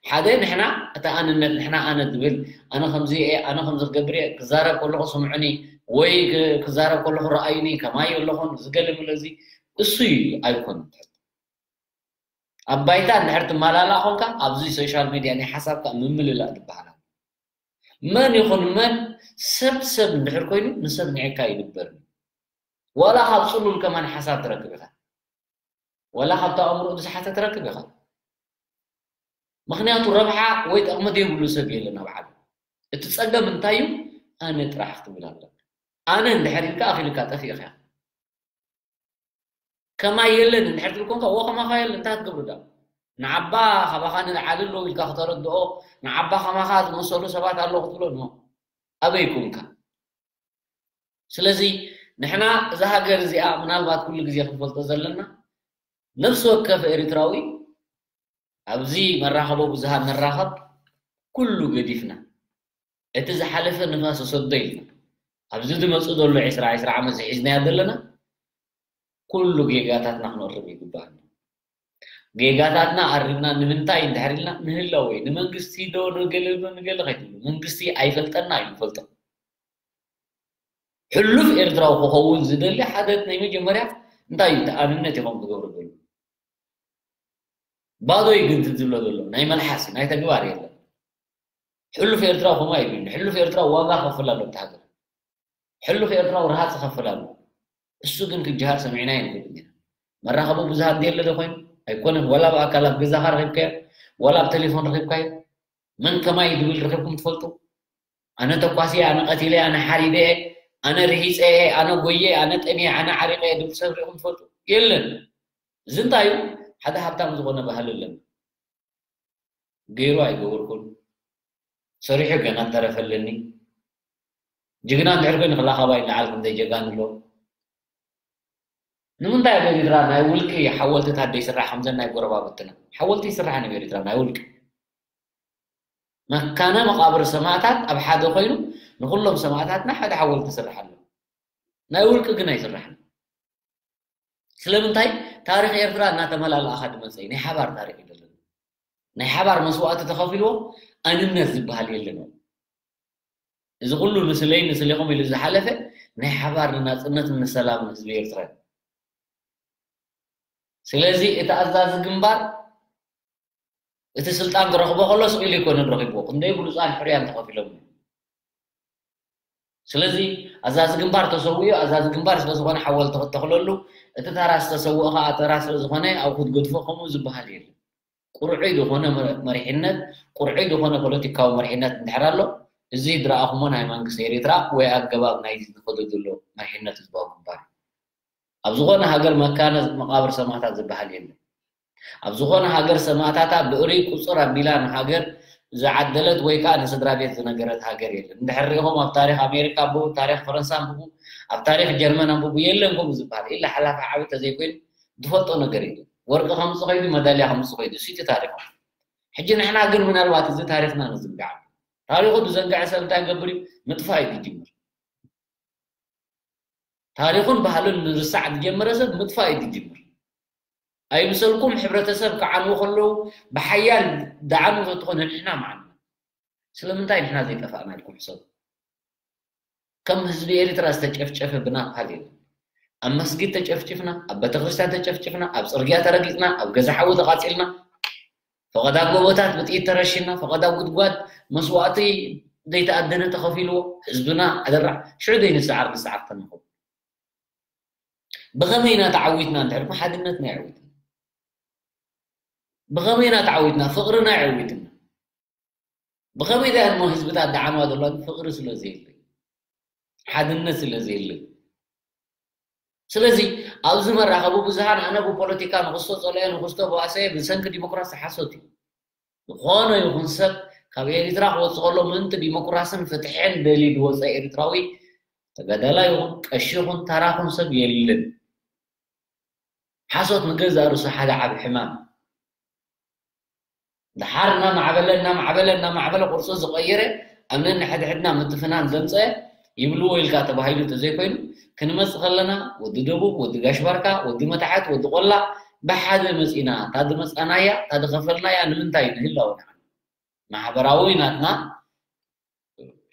ሓደ ንሕና እቲ ኣንነት ንሕና ኣነ ዝብል ኣነ ከምዚ እየ ኣነ ከምዚ ክገብር እየ ክዛረብ ከለኹ ስምዑኒ ወይ ክዛረብ ከለኹ ረኣዩኒ ከማይ ኣለኹን ዝገለምለ እዚ እሱ እዩ ኣይኮን ኣብ ባይታ እንድሕር ትመላላ ኮንካ ኣብዚ ሶሻል ሚድያ ናይ ሓሳብካ ምምልላእ ዝበሃል መን ይኹን መን ሰብ ሰብ እንድሕር ኮይኑ ንሰብ ንዕካ ይድበር ዋላ ካብ ፅሉል ከማን ሓሳብ ትረክብ ኢኻ ወላ ካብቲ ኣእምሮ ዝሓተ ትረክብ ኢኻ ምኽንያቱ ረብሓ ወይ ጥቕሚ ዘይብሉ ሰብ የለን ኣብ ዓለም እቲ ፀገም እንታይ እዩ ኣነ ጥራሕ ክትብል ኣለካ ኣነ እንድሕር ኢልካ ኣኺልካ ጠፊእኻ ከማይ የለን እንድሕር ትብል ኮንካ እዎ ከማኻ የለን እንታይ ክትገብሩ ዳ ንዓባ ካባኻ ንልዓሊ ኣለዉ ኢልካ ክተረድኦ ንዓባ ከማኻ ዝመሰሉ ሰባት ኣለዉ ክትብሎ ኖ ኣበይ ኮንካ ስለዚ ንሕና እዛ ሃገር እዚኣ ምናልባት ኩሉ ግዜ ክንፈልጦ ዘለና ነፍሲ ወከፍ ኤርትራዊ ኣብዚ መራኸቦ ብዙሃን ንራኸብ ኩሉ ገዲፍና እቲ ዝሓለፈ ንፋስ ሰዶ ኢልና ኣብዚ ዝመፁ ዘሎ ዕስራ ዕስራ ዓመት ዝሒዝናዮ ዘለና ኩሉ ጌጋታትና ክንእርም ይግባኣና። ጌጋታትና ኣሪምና ንምንታይ እንድሕር ኢልና ንህላወ እዩ። ንመንግስቲ ዶ ንገለ ዶ ንገለ ከይትብሉ መንግስቲ ኣይፈልጠና እዩ ንፈልጦ። ሕሉፍ ኤርትራዊ ክኸውን ዝደሊ ሓደ ናይ መጀመርያ እንታይ እዩ ተኣንነት ኢኹም ትገብሩ ዘለኹም። ባዶ እዩ ግን ዝብሎ ዘሎ ናይ መልሓስ ናይ ተግባር የለን። ሕሉፍ ኤርትራዊ ከምኡ ኣይብልን። ሕሉፍ ኤርትራዊ ዋጋ ክኸፍል ኣሎ ኣብቲ ሃገር። ሕሉፍ ኤርትራዊ ረሃፅ ይኸፍል ኣሎ። እሱ ግን ክጀሃር ሰሚዕናዮ ኣይንፈልጥን ኢና። መራኸቢ ብዙሃን ድየለ ዶ ኮይኑ? ኣይኮነን። ዋላ ኣብ ኣካል ኣብ ገዛኻ ረኺብካዮ፣ ዋላ ኣብ ቴሌፎን ረኺብካዮ፣ መን ከማይ ድብል ረኺብኩም ትፈልጡ? ኣነ ተኳሲ፣ ኣነ ቀቲለ፣ ኣነ ሓሪደ፣ ኣነ ርሂፀ፣ ኣነ ጎየ፣ ኣነ ጠምየ፣ ኣነ ዓሪቀ ድብል ሰብ ሪኢኹም ትፈልጡ? የለን። እዚ እንታይ እዩ? ሓደ ሃብታም ዝኾነ ባህሊ ኣለና። ገይሩ ኣይገበርኩን ሰሪሑ ገና ተረፈለኒ ጅግና እንድሕር ኮይኑ ክላኻባይ ንዓል ክንደይ ጀጋን ኣሎ ንምንታይ ኣብ ኤርትራ ናይ ውልቂ ሓወልትታት ደይስራሕ ከምዘን ናይ ጎረባብትና ሓወልቲ ይስራሕ ኣብ ኤርትራ ናይ ውልቂ መካነ መቃብር ሰማእታት ኣብ ሓደ ኮይኑ ንኩሎም ሰማእታትና ሓደ ሓወልቲ ይስራሕ ኣሎ ናይ ውልቂ ግን ኣይስራሕን ስለምንታይ ታሪኽ ኤርትራ እናተመላላእኻ ድመፀ እዩ ናይ ሓባር ታሪኽ እዩ ዘለና ናይ ሓባር መስዋእቲ ተኸፊልዎ ኣንነት ዝበሃል የለን እዚ ኩሉ ንስለይ ንስሌኹም ኢሉ ዝሓለፈ ናይ ሓባር ንናፅነትን ንሰላምን ህዝቢ ኤርትራ እዩ ስለዚ እቲ ኣዛዚ ግንባር እቲ ስልጣን ክረኽቦ ከሎ ስቕ ኢሉ ኣይኮነን ረኺብዎ። ክንደይ ብሉጻን ሕሩያን ተኸፊሎምሉ። ስለዚ ኣዛዚ ግንባር ተሰዊኡ፣ ኣዛዚ ግንባር ስለ ዝኾነ ሓወልቲ ክተኽለሉ፣ እቲ ተራ ዝተሰውኦ ኸኣ ተራ ስለ ዝኾነ ኣብኡ ክትገድፎ ከምኡ ዝበሃል የለን። ቁርዑይ ዝኾነ መሪሕነት፣ ቁርዑይ ዝኾነ ፖለቲካዊ መሪሕነት እንድሕር ኣሎ፣ እዚ ዝረኣኹሞ ናይ መንግስቲ ኤርትራ ወይ ኣገባብ ናይዚ ዝኸዶ ዘሎ መሪሕነት ህዝባዊ ግንባር እዩ። ኣብ ዝኾነ ሃገር መካነ መቓብር ሰማእታት ዝበሃል የለን። ኣብ ዝኾነ ሃገር ሰማእታታ ብእሪ ቁፅር ኣቢላ ንሃገር ዝዓደለት ወይ ከዓ ንስድራ ቤት ዝነገረት ሃገር የለን። እንድሕር ሪኢኹም ኣብ ታሪክ ኣሜሪካ ኣንብቡ፣ ታሪክ ፈረንሳ ኣንብቡ፣ ኣብ ታሪክ ጀርመን ኣንብቡ፣ የለን ከምኡ ዝበሃል። ኢላ ሓላፊ ዓቢ ተዘይኮይኑ ዝፈልጦ ነገር የለን። ወርቂ ከምፅእ ከይዱ፣ መዳልያ ከምፅእ ከይዱ፣ እሱ እቲ ታሪክ። ሕጂ ንሕና ግን ምናልባት እዚ ታሪክና ንዝንጋዕ። ታሪኩ ዝዘንግዐ ሰብ እንታይ ክገብር እዩ? ምጥፋእ እዩ ዝጅምር። ታሪኹን ባህሉን ንርሳዕ ዝጀመረ ሰብ ምጥፋእ እዩ ዝጅምር። ኣይምሰልኩም ሕብረተሰብ ክዓንዉ ከለዉ ብሓያል ዝዓንዉ ተትኾነ ንሕና ምዓንና። ስለምንታይ ንሕና ዘይጠፋእና ኢልኩም ሕሰቡ። ከም ህዝቢ ኤርትራ ዝተጨፍጨፈ ብናፓል የለን። ኣብ መስጊድ ተጨፍጭፍና፣ ኣብ ቤተክርስትያን ተጨፍጭፍና፣ ኣብ ጽርግያ ተረጊጽና፣ ኣብ ገዛ ሓዊ ተቓጺልና፣ ፈቐዳ ጎቦታት ብጥይት ተረሺና፣ ፈቐዳ ጉድጓድ መስዋእቲ ዘይተኣደነ ተኸፊልዎ ህዝብና ኣደራዕ ሽዑ ደይ ንሰዓር ንሰዓር ተንኸው። ብኸመይ ኢና ተዓዊትና እንድሕር ሓድነትና የዕዊትና። ብኸመይ ኢና ተዓዊትና ፍቕርና የዕዊትና። ብኸመይ ዳ እሞ ህዝብታት ደዓማ ዘሎ ፍቕሪ ስለ ዘየለ፣ ሓድነት ስለ ዘየለ። ስለዚ ኣብዚ መራኸቢ ብዙሃን ኣነ ብፖለቲካ ንኽስቶ ጸልኦ ንኽስቶ ብኣሰየ ብሰንኪ ዲሞክራሲ ሓሶት እዩ። ዝኾነ ይኹን ሰብ ካብ ኤሪትራ ክወጽእ ከሎ ምእንቲ ዲሞክራስን ፍትሕን ደልዩ ዝወጸ ኤሪትራዊ ተጋዳላይ ይኹን ቀሺ ይኹን ታራኹን ሰብ የለን። ሓሶት ንገዛእ ርእሱ ሓደ ዓቢ ሕማም። ደሓር እናማዕበለ እናማዕበለ እናማዕበለ ቅርጹ ዝቐየረ ኣብ ነንሕድሕድና ምትፍናን ዘምፀ ይብልዎ ኢልካ ተባሂሉ ተዘይኮይኑ ክንመጽእ ከለና ወዲ ደቡብ ወዲ ጋሽ ባርካ ወዲ መታሕት ወዲ ቆላ ብሓደ መጺና እታ ዝመጻናያ እታ ዝኸፈልናያ ንምንታይ ንህላወ ንዓና ማሕበራዊ ናትና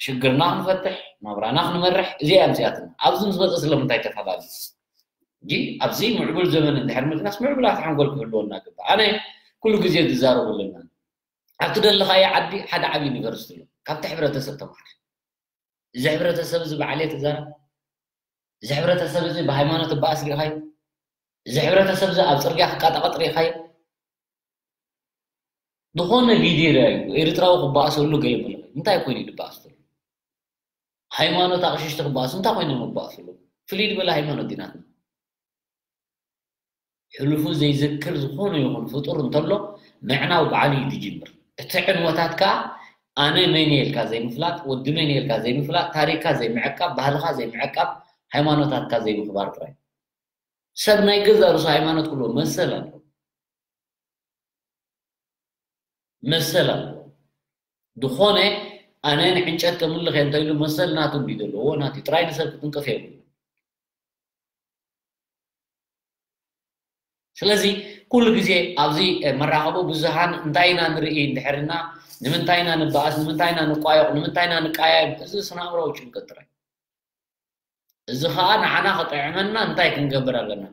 ሽግርና ክንፈትሕ ናብራና ክንመርሕ እዚኣ እያ ምፅያትና ኣብዚ ምስ መፀ ስለምንታይ ተፈላለዩ እንጂ ኣብዚ ምዕቡል ዘመን እንድሕር ምድናስ ምዕቡላት ሓንጎል ክህልወና ግባእ ኣነ ኩሉ ግዜ ዝዛረቡ ኣለና ኣብ ትደለኻዮ ዓዲ ሓደ ዓብ ዩኒቨርሲቲ ኣሎ ካብቲ ሕብረተሰብ ተምሃር እዚ ሕብረተሰብ እዚ ብዓሌት ይዛረብ እዚ ሕብረተሰብ እዚ ብሃይማኖት ይበኣስ ርኢኻዮ እዚ ሕብረተሰብ እዚ ኣብ ፅርግያ ክቃጣቐጥ ርኢኻዮ ዝኾነ ቪድዮ ርኣዩ ኤርትራዊ ክበኣሰሉ ገለ መለ እንታይ ኮይኑ ይበኣስ ዘሎ ሃይማኖት ኣቕሽሽቲ ክበኣሱ እንታይ ኮይኖም ይበኣሱ ኣለዉ ፍልይ ዝበለ ሃይማኖት ዲናትና ሕሉፉ ዘይዝክር ዝኾነ ይኹን ፍጡር እንተሎ ምዕናው ባዕሉ እዩ ዝጅምር እቲ ዕንወታት ከዓ ኣነ መን እየ ኢልካ ዘይምፍላጥ ወዲ መን እየ ኢልካ ዘይምፍላጥ ታሪክካ ዘይምዕቃብ ባህልካ ዘይምዕቃብ ሃይማኖታትካ ዘይምኽባር ጥራይ ሰብ ናይ ገዛ ርእሱ ሃይማኖት ክብሎ መሰል ኣለዎ መሰል ኣለዎ ዝኾነ ኣነ ንዕንጨት ከምልኽ እየ እንተኢሉ መሰል ናቱ እንዲ ዘለዎ ናቱ ጥራይ ንሰብ ክትንቅፍ የብሉ ስለዚ ኩሉ ግዜ ኣብዚ መራኸቡ ብዙሃን እንታይ ኢና ንርኢ እንድሕርና ንምንታይ ኢና ንበኣስ ንምንታይ ኢና ንቋየቕ ንምንታይ ኢና ንቃየም እዚ ስነ ኣእምራዊ ጭንቀት ጥራይ እዚ ኸኣ ንዓና ክጥዕመና እንታይ ክንገብር ኣለና?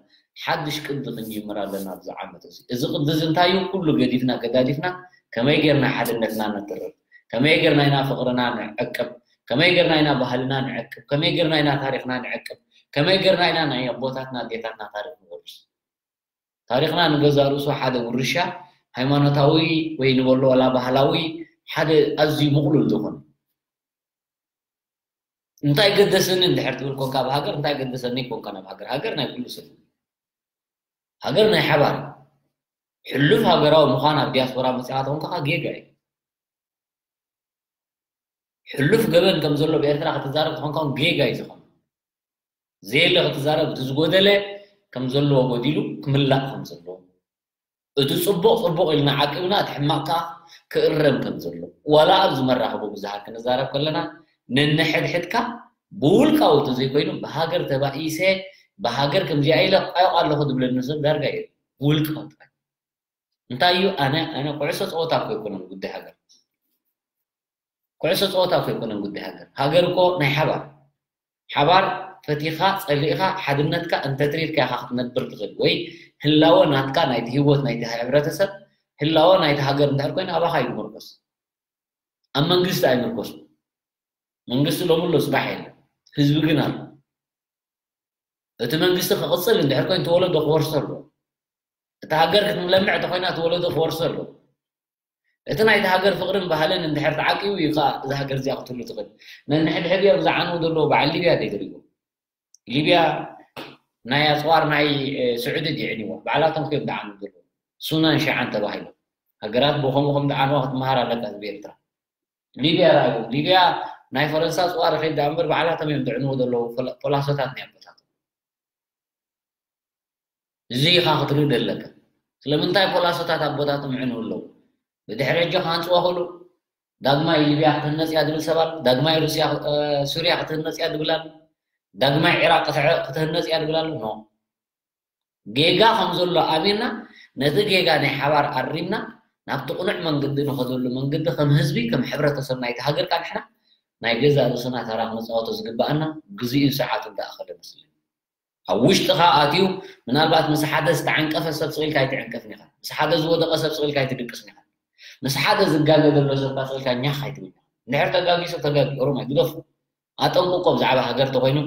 ሓድሽ ቅዲ ክንጅምር ኣለና ኣብዚ ዓመት እዚ። እዚ ቅዲ እዚ እንታይ እዩ? ኩሉ ገዲፍና ገዳዲፍና ከመይ ጌርና ሓድነትና ነጥርር? ከመይ ጌርና ኢና ፍቕርና ንዕቅብ? ከመይ ጌርና ኢና ባህልና ንዕቅብ? ከመይ ጌርና ኢና ታሪኽና ንዕቅብ? ከመይ ጌርና ኢና ናይ ኣቦታትና ኣዴታትና ታሪኽ ንወርስ? ታሪኽና ንገዛእ ርእሱ ሓደ ውርሻ ሃይማኖታዊ ወይ ንበሎ ዋላ ባህላዊ ሓደ ኣዝዩ ምቕሉል ዝኾነ እንታይ ገደሰኒ እንድሕር ትብል ኮንካ ኣብ ሃገር እንታይ ገደሰኒ ኮንካ ናብ ሃገር ሃገር ናይ ኩሉ ሰብ ሃገር ናይ ሓባር ሕሉፍ ሃገራዊ ምዃን ኣብ ዲያስፖራ መፅኻ ተኾንካ ጌጋ እዩ ሕሉፍ ገበን ከም ዘሎ ብኤርትራ ክትዛረብ ተኾንካ ጌጋ እዩ ዝኾነ ዘየለ ክትዛረብ እቲ ዝጎደለ ከም ዘለዎ ጎዲሉ ክምላእ ከም ዘለዎ እቲ ጽቡቕ ጽቡቕ ኢልና ዓቂብና እቲ ሕማቕ ከኣ ክእረም ከም ዘሎ ዋላ ኣብዚ መራኸቡ ብዙሃን ክንዛረብ ከለና ነንሕድሕድካ ብውልቃዊ እንተዘይኮይኑ ብሃገር ተባኢሰ ብሃገር ከምዚኣ ኢለ ቋይቕ ኣለኹ ዝብለኒ ሰብ ዳርጋ የለን ውልቃዊ ጥራይ እንታይ እዩ ኣነ ኣነ ኩዕሶ ጸወታ እኮ ኣይኮነን ጉዳይ ሃገር ኩዕሶ ጸወታ እኮ ኣይኮነን ጉዳይ ሃገር። ሃገር እኮ ናይ ሓባር። ሓባር ፈቲኻ ጸሊእኻ ሓድነትካ እንተትሪርካ ኢኻ ክትነብር ትኽእል ወይ ህላወ ናትካ ናይቲ ህይወት ናይቲ ሕብረተሰብ ህላወ ናይቲ ሃገር እንድሕር ኮይኑ ኣባኻ እዩ ዝምርኮስ። ኣብ መንግስቲ ኣይምርኮስን። መንግስቲ ሎሚ ኣሎ ጽባሕ የለን። ህዝቢ ግን ኣሎ። እቲ መንግስቲ ክቕጽል እንድሕር ኮይኑ እቲ ወለዶ ክወርሶ ኣለዎ። እታ ሃገር ክትለምዕ እንተኾይና እቲ ወለዶ ክወርሶ ኣለዎ። እቲ ናይቲ ሃገር ፍቕርን ባህልን እንድሕር ተዓቂቡ እዩ ከዓ እዛ ሃገር እዚኣ ክትህሉ ትኽእል። ነንሕድሕድ እዮም ዝዓንዉ ዘለዉ በዓል ሊብያ ደይትሪእዎ። ሊብያ ናይ ኣፅዋር ናይ ስዑዲ ድዩ ዕንይዋ? ባዕላቶም እዮም ዝዓንዉ ዘለዉ። ሱናን ሸዓን ተባሂሎም ሃገራት ብኸምኡ ከም ዝዓንዋ ክትመሃር ኣለካ ህዝቢ ኤርትራ። ሊብያ ረኣዩ። ሊብያ ናይ ፈረንሳ ኣፅዋር ይኸይድ ደኣ እምበር ባዕላቶም እዮም ዝዕንዉ ዘለዉ ፖላሶታት ናይ ኣቦታቶም። እዚ ኢኻ ክትርኢ ዘለካ። ስለምንታይ ፖላሶታት ኣቦታቶም ይዕንዉ ኣለዉ? ብድሕሪ ሕጂ ክሃንፅዋ ክእሉ ዳግማይ ሊብያ ክትህነፅ እያ ዝብል ሰብ ኣሎ። ዳግማይ ሩስያ ሱርያ ክትህነፅ እያ ዝብል ኣሎ። ዳግማይ ዒራቅ ክትህነፅ እያ ዝብል ኣሎ። ኖ ጌጋ ከም ዘሎ ኣሚንና ነቲ ጌጋ ናይ ሓባር ኣሪምና ናብቲ ቅኑዕ መንገዲ ንኸደሉ መንገዲ ከም ህዝቢ ከም ሕብረተሰብ ናይቲ ሃገር ካ ንሕና ናይ ገዛ ርእስና ተራ ክንፃወቶ ዝግበኣና ግዜኡ ሰዓቱ እንዳኣኸለ መስለኒ ኣብ ውሽጥኻ ኣትዩ ምናልባት ምስ ሓደ ዝተዓንቀፈ ሰብ ስቕ ኢልካ ኣይትዕንቀፍን ኢኻ። ምስ ሓደ ዝወደቐ ሰብ ስቕ ኢልካ ኣይትድቅስን ኢኻ። ምስ ሓደ ዝጋገ ዘሎ ሰብ ስቕ ኢልካ ኛኽ ኣይትብል ኢኻ። እንድሕር ተጋጊ ሰብ ተጋጊ፣ ኦሮማይ ግደፉ። ኣጠንቅቆ ብዛዕባ ሃገር ተኮይኑ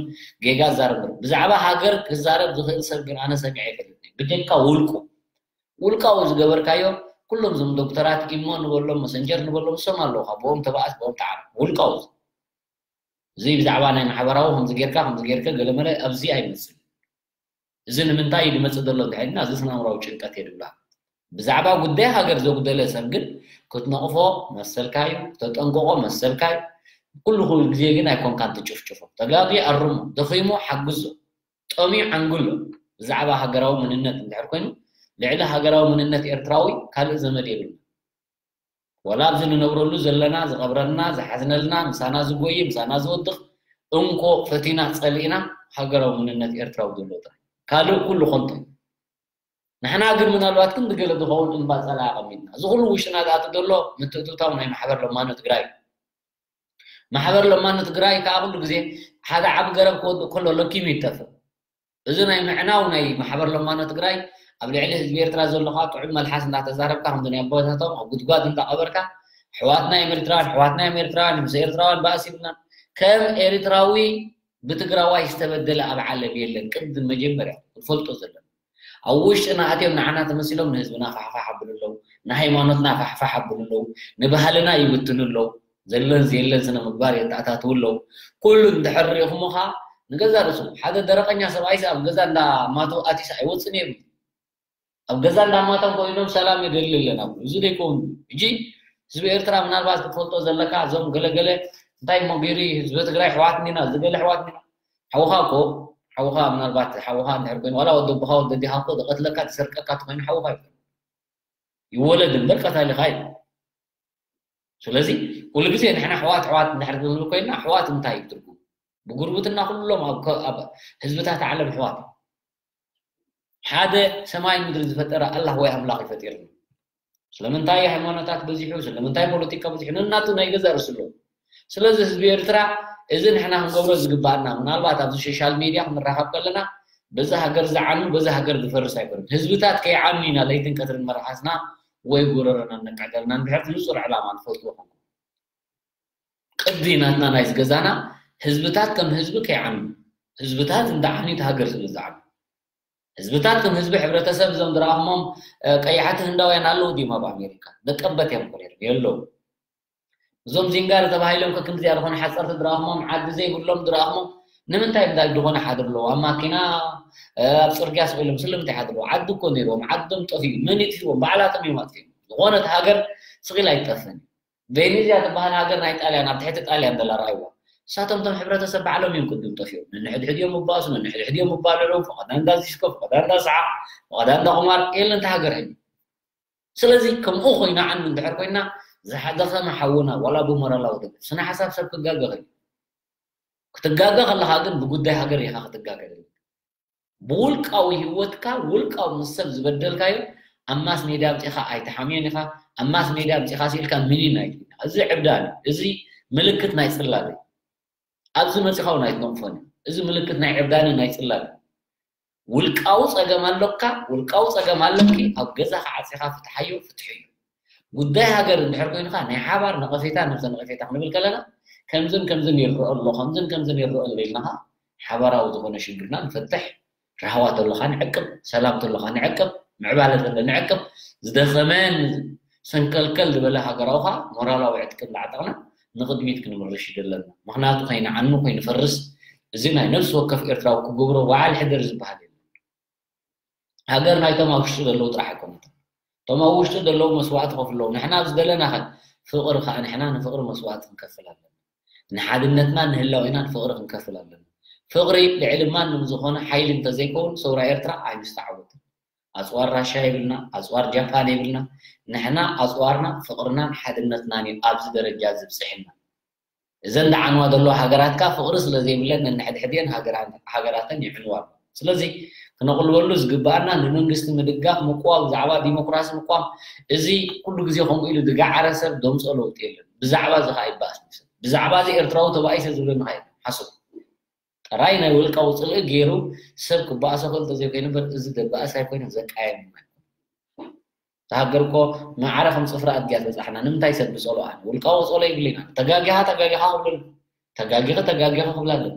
ጌጋ ዝዛረብ ነይሩ። ብዛዕባ ሃገር ክዛረብ ዝኽእል ሰብ ግን ኣነ ሰሚዐ ኣይፈልጥን። ብጀካ ውልቁ ውልቃዊ ዝገበርካዮ ኩሎም እዞም ዶክተራት ኢሞ ንበሎም መሰንጀር ንበሎም እሶም ኣለዉ ካብ ብኦም ተባኣስ ብኦም ተዓር ውልቃዊ እዚ ብዛዕባ ናይ ማሕበራዊ ከምዚ ጌርካ ከምዚ ጌርከ ገለመለ ኣብዚ ኣይመስል እዚ ንምንታይ እዩ ዝመፅእ ዘሎ እንድሕልና እዚ ስናምራዊ ጭንቀት የድብላ ብዛዕባ ጉዳይ ሃገር ዘጉደለ ሰብ ግን ክትነቕፎ መሰልካ እዩ ተጠንቀቆ መሰልካ እዩ ኩሉ ኩሉ ግዜ ግን ኣይኮንካን ትጭፍጭፎ ተጋጊ ኣርሙ ደኺሙ ሓግዞ ጠምዩ ዓንግሎ ብዛዕባ ሃገራዊ መንነት እንድሕር ኮይኑ ልዕሊ ሃገራዊ መንነት ኤርትራዊ ካልእ ዘመድ የብልና ዋላ ኣብዚ ንነብረሉ ዘለና ዝቐብረልና ዝሓዝነልና ምሳና ዝጎይ ምሳና ዝወድቕ እንኮ ፈቲና ጸሊእና ሃገራዊ መንነት ኤርትራዊ ዘሎ ጥራይ ካልእ ኩሉ ኮንቶ ንሕና ግን ምናልባት ክንዲ ገለ ዝኸውን እምባ ጸላ ኣቐሚጥና እዚ ኩሉ ውሽጥና ዝኣቱ ዘሎ ምትእትታው ናይ ማሕበር ለማኖ ትግራይ ማሕበር ለማኖ ትግራይ ከዓ ኩሉ ግዜ ሓደ ዓቢ ገረብ ክወድእ ከሎ ለኪሙ ይጠፍእ እዚ ናይ ምዕናው ናይ ማሕበር ለማኖ ትግራይ ኣብ ልዕሊ ህዝቢ ኤርትራ ዘለካ ጥዑም መልሓስ እንዳተዛረብካ ከምዚ ናይ ኣቦታቶም ኣብ ጉድጓድ እንዳቀበርካ ኣሕዋትና እዮም ኤርትራውያን ኣሕዋትና እዮም ኤርትራውያን ምስ ኤርትራውያን ባእሲ ይብልና ከም ኤርትራዊ ብትግራዋይ ዝተበደለ ኣብ ዓለም የለን ቅድም መጀመርያ ክትፈልጦ ዘለና ኣብ ውሽጥና ኣትዮም ንዓና ተመሲሎም ንህዝብና ፋሕፋሕ ኣብሉ ኣለዉ ንሃይማኖትና ፋሕፋሕ ኣብሉ ኣለዉ ንባህልና ይብትኑ ኣለዉ ዘለን ዘየለን ስነ ምግባር የተኣታትዉ ኣለዉ ኩሉ እንድሕር ሪኢኹሞ ከዓ ንገዛ ርእሱ ሓደ ደረቀኛ ሰብኣይሲ ኣብ ገዛ እንዳማቱ ኣቲስ ኣይወፅን የብሉ ኣብ ገዛ እንዳማቶም ኮይኖም ሰላም የደሊ ኣለና እዚ ዘይከውን እጂ ህዝቢ ኤርትራ ምናልባት ክትፈልጦ ዘለካ እዞም ገለገለ እንታይ እሞ ገይሩ ህዝቢ ትግራይ ኣሕዋት እንዲና ዝገለ ኣሕዋት እንዲና ሓውኻ እኮ ሓውኻ ምናልባት ሓውኻ እንድሕር ኮይኑ ዋላ ወዲ ኣቦኻ ወዲ ኣዴኻ እኮ ዝቐትለካ ዝሰርቀካ ተኮይኑ ሓውኻ እዩ ይወለድ እምበር ቀታሊኻ እዩ ስለዚ ኩሉ ግዜ ንሕና ኣሕዋት ኣሕዋት እንድሕር ክንብል ኮይንና ኣሕዋት እንታይ እዩ ትርጉም ብጉርብትና ኩሎም ኣብ ህዝብታት ዓለም ኣሕዋት ሓደ ሰማይ ምድሪ ዝፈጠረ ኣላህ ወይ ኣምላኽ እዩ ፈጢርና ስለምንታይ ሃይማኖታት በዚሑ ስለምንታይ ፖለቲካ በዚሑ ነናቱ ናይ ገዛ ርእሱ ኣለዎ ስለዚ ህዝቢ ኤርትራ እዚ ንሕና ክንገብሮ ዝግባኣና ምናልባት ኣብዚ ሶሻል ሜድያ ክንራኸብ ከለና በዚ ሃገር ዝዓኑ በዚ ሃገር ዝፈርስ ኣይኮነን ህዝብታት ከይዓኑ ኢና ለይትን ቀትርን መርሓስና ወይ ጎረረና ነቃደልና እንድሕር ንፁር ዕላማ ንፈልጥዎ ኮንኩም ቅዲ ናትና ናይ ዝገዛና ህዝብታት ከም ህዝቢ ከይዓኑ ህዝብታት እንዳዓኑ እቲ ሃገር ስለ ዝዓኑ ህዝብታት ከም ህዝቢ ሕብረተሰብ እዞም ዝረኣኹሞም ቀያሕቲ ህንዳውያን ኣለዉ ድዮም ኣብ ኣሜሪካ ደቀበት እዮም እኮ ነይሮም የለዉ እዞም ዚንጋር ተባሂሎም ከክምዚኣ ዝኾነ ሓፀርቲ ዝረኣኹሞም ዓዲ ዘይብሎም ዝረኣኹሞም ንምንታይ እንዳ ዝኾነ ሓድር ኣለዉ ኣብ ማኪና ኣብ ፅርግያ ስቕ ኢሎም ስለምንታይ ሓድር ኣለዉ ዓዲ እኮ ነይርዎም ዓዶም ጠፊኡ መን ይጥፊዎም ባዕላቶም እዮም ኣጥፊኦም ዝኾነት ሃገር ስቕ ኢላ ኣይትጠፍእን ቬኔዝያ ትበሃል ሃገር ናይ ጣልያን ኣብ ትሕቲ ጣልያን ዘላ ረኣይዋ እሳቶም ቶም ሕብረተሰብ ባዕሎም እዮም ቅድም ጠፊኦም ነንሕድሕድ እዮም ይባእሱ ነንሕድሕድ እዮም ይባልዑ ፈቐዳ እንዳ ዚስኮ ፈቐዳ እንዳ ሰዓ ፈቐዳ እንዳ ቁማር የለን እታ ሃገር ሕጂ ስለዚ ከምኡ ኮይና ዓንዱ እንድሕር ኮይና ዝሓደኸመ ሓውና ዋላ ብሞራላዊ ደገፍ ስነ ሓሳብ ሰብ ክጋገ ኸዩ ክትጋገ ከለኻ ግን ብጉዳይ ሃገር ኢኻ ክትጋገ ብውልቃዊ ህይወትካ ውልቃዊ ምስ ሰብ ዝበደልካዮ ኣብ ማስ ሜድያ ኣምፂኻ ኣይትሓምዮን ኢኻ ኣብ ማስ ሜድያ ኣምፂኻ ስኢልካ ምኒን ኣይትብልና እዚ ዕብዳን እዚ ምልክት ናይ ፅላል እዩ ኣብዚ መፂኻ እውን ኣይትነቕፎን እዩ እዚ ምልክት ናይ ዕብዳንን ናይ ፅላል እዩ ውልቃዊ ፀገም ኣለካ ውልቃዊ ፀገም ኣለኪ ኣብ ገዛኻ ዓፂኻ ፍትሓዮ ፍትሒ እዩ ጉዳይ ሃገር እንድሕር ኮይንካ ናይ ሓባር ነቐፌታ ነብሰ ነቐፌታ ክንብል ከለና ከምዝን ከምዝን ይረአ ኣሎ ከምዝን ከምዝን ይረአ ኣሎ ኢልናኻ ሓባራዊ ዝኾነ ሽግርና ንፈትሕ ራህዋ ተለኻ ንዕቅብ ሰላም ተለኻ ንዕቅብ ምዕባለ ተለ ንዕቅብ ዝደኸመ ሰንከልከል ዝበለ ሃገራዊ ከዓ ሞራላዊ ዕጥቂ እንዳዓጠቕና ንቕድሚት ክንምርሽ እዩ ዘለና ምኽንያቱ ከይንዓኑ ከይንፈርስ እዚ ናይ ነፍሲ ወከፍ ኤርትራዊ ክገብሮ በዓል ሕደር ዝበሃል የለን ሃገር ናይቶም ኣብ ውሽጢ ዘለዉ ጥራሕ ኣይኮነትን እቶም ኣብ ውሽጢ ዘለዉ መስዋእቲ ከፍለዉ ንሕና ኣብ ዝደለና ከ ፍቕሪ ከዓ ንሕና ንፍቕሪ መስዋእቲ ክንከፍል ኣለና ንሓድነትና ንህላዌና ንፍቕሪ ክንከፍል ኣለና ፍቕሪ ልዕሊ ማንም ዝኾነ ሓይሊ እንተዘይከውን ሰውራ ኤርትራ ኣይምስተዓወትን ኣፅዋር ራሻ የብልና ኣፅዋር ጃፓን የብልና ንሕና ኣፅዋርና ፍቕርናን ሓድነትናን እዩ ኣብዚ ደረጃ ዝብፅሕና እዘን ደዓንዋ ዘለዋ ሃገራት ከኣ ፍቕሪ ስለ ዘይብለን ነንሕድሕድየን ሃገራተን ይዕንዋ ኣለዋ። ስለዚ ክነቕልበሉ ዝግበኣና ንመንግስቲ ምድጋፍ፣ ምቅዋም፣ ብዛዕባ ዲሞክራሲ ምቅዋም፣ እዚ ኩሉ ግዜ ከምኡ ኢሉ ዝገዓረ ሰብ ዘምጽኦ ለውጢ የለን። ብዛዕባ እዚ ከኣ ይበኣስ ንሰብ። ብዛዕባ እዚ ኤርትራዊ ተባኢሰ ዝብለኒ ከኣ የለን። ሓሶት። ጥራይ ናይ ውልቃዊ ፅልኢ ገይሩ ሰብ ክበኣሶ ክእል እንተዘይኮይኑ እምበር፣ እዚ ደበኣስ ኣይኮይኑ፣ ዘቃየም ኣይኮይኑ። እታ ሃገር እኮ ማዕረ ከም ፅፍሪ ኣድጊ እያ ትበፅሓና። ንምንታይ ሰብ ብፀሎ ኣነ? ውልቃዊ ፀሎ የብለይና። ተጋጊኻ ተጋጊኻ ክብለሉ፣ ተጋጊኺ ተጋጊኻ ክብላ ኣለኒ።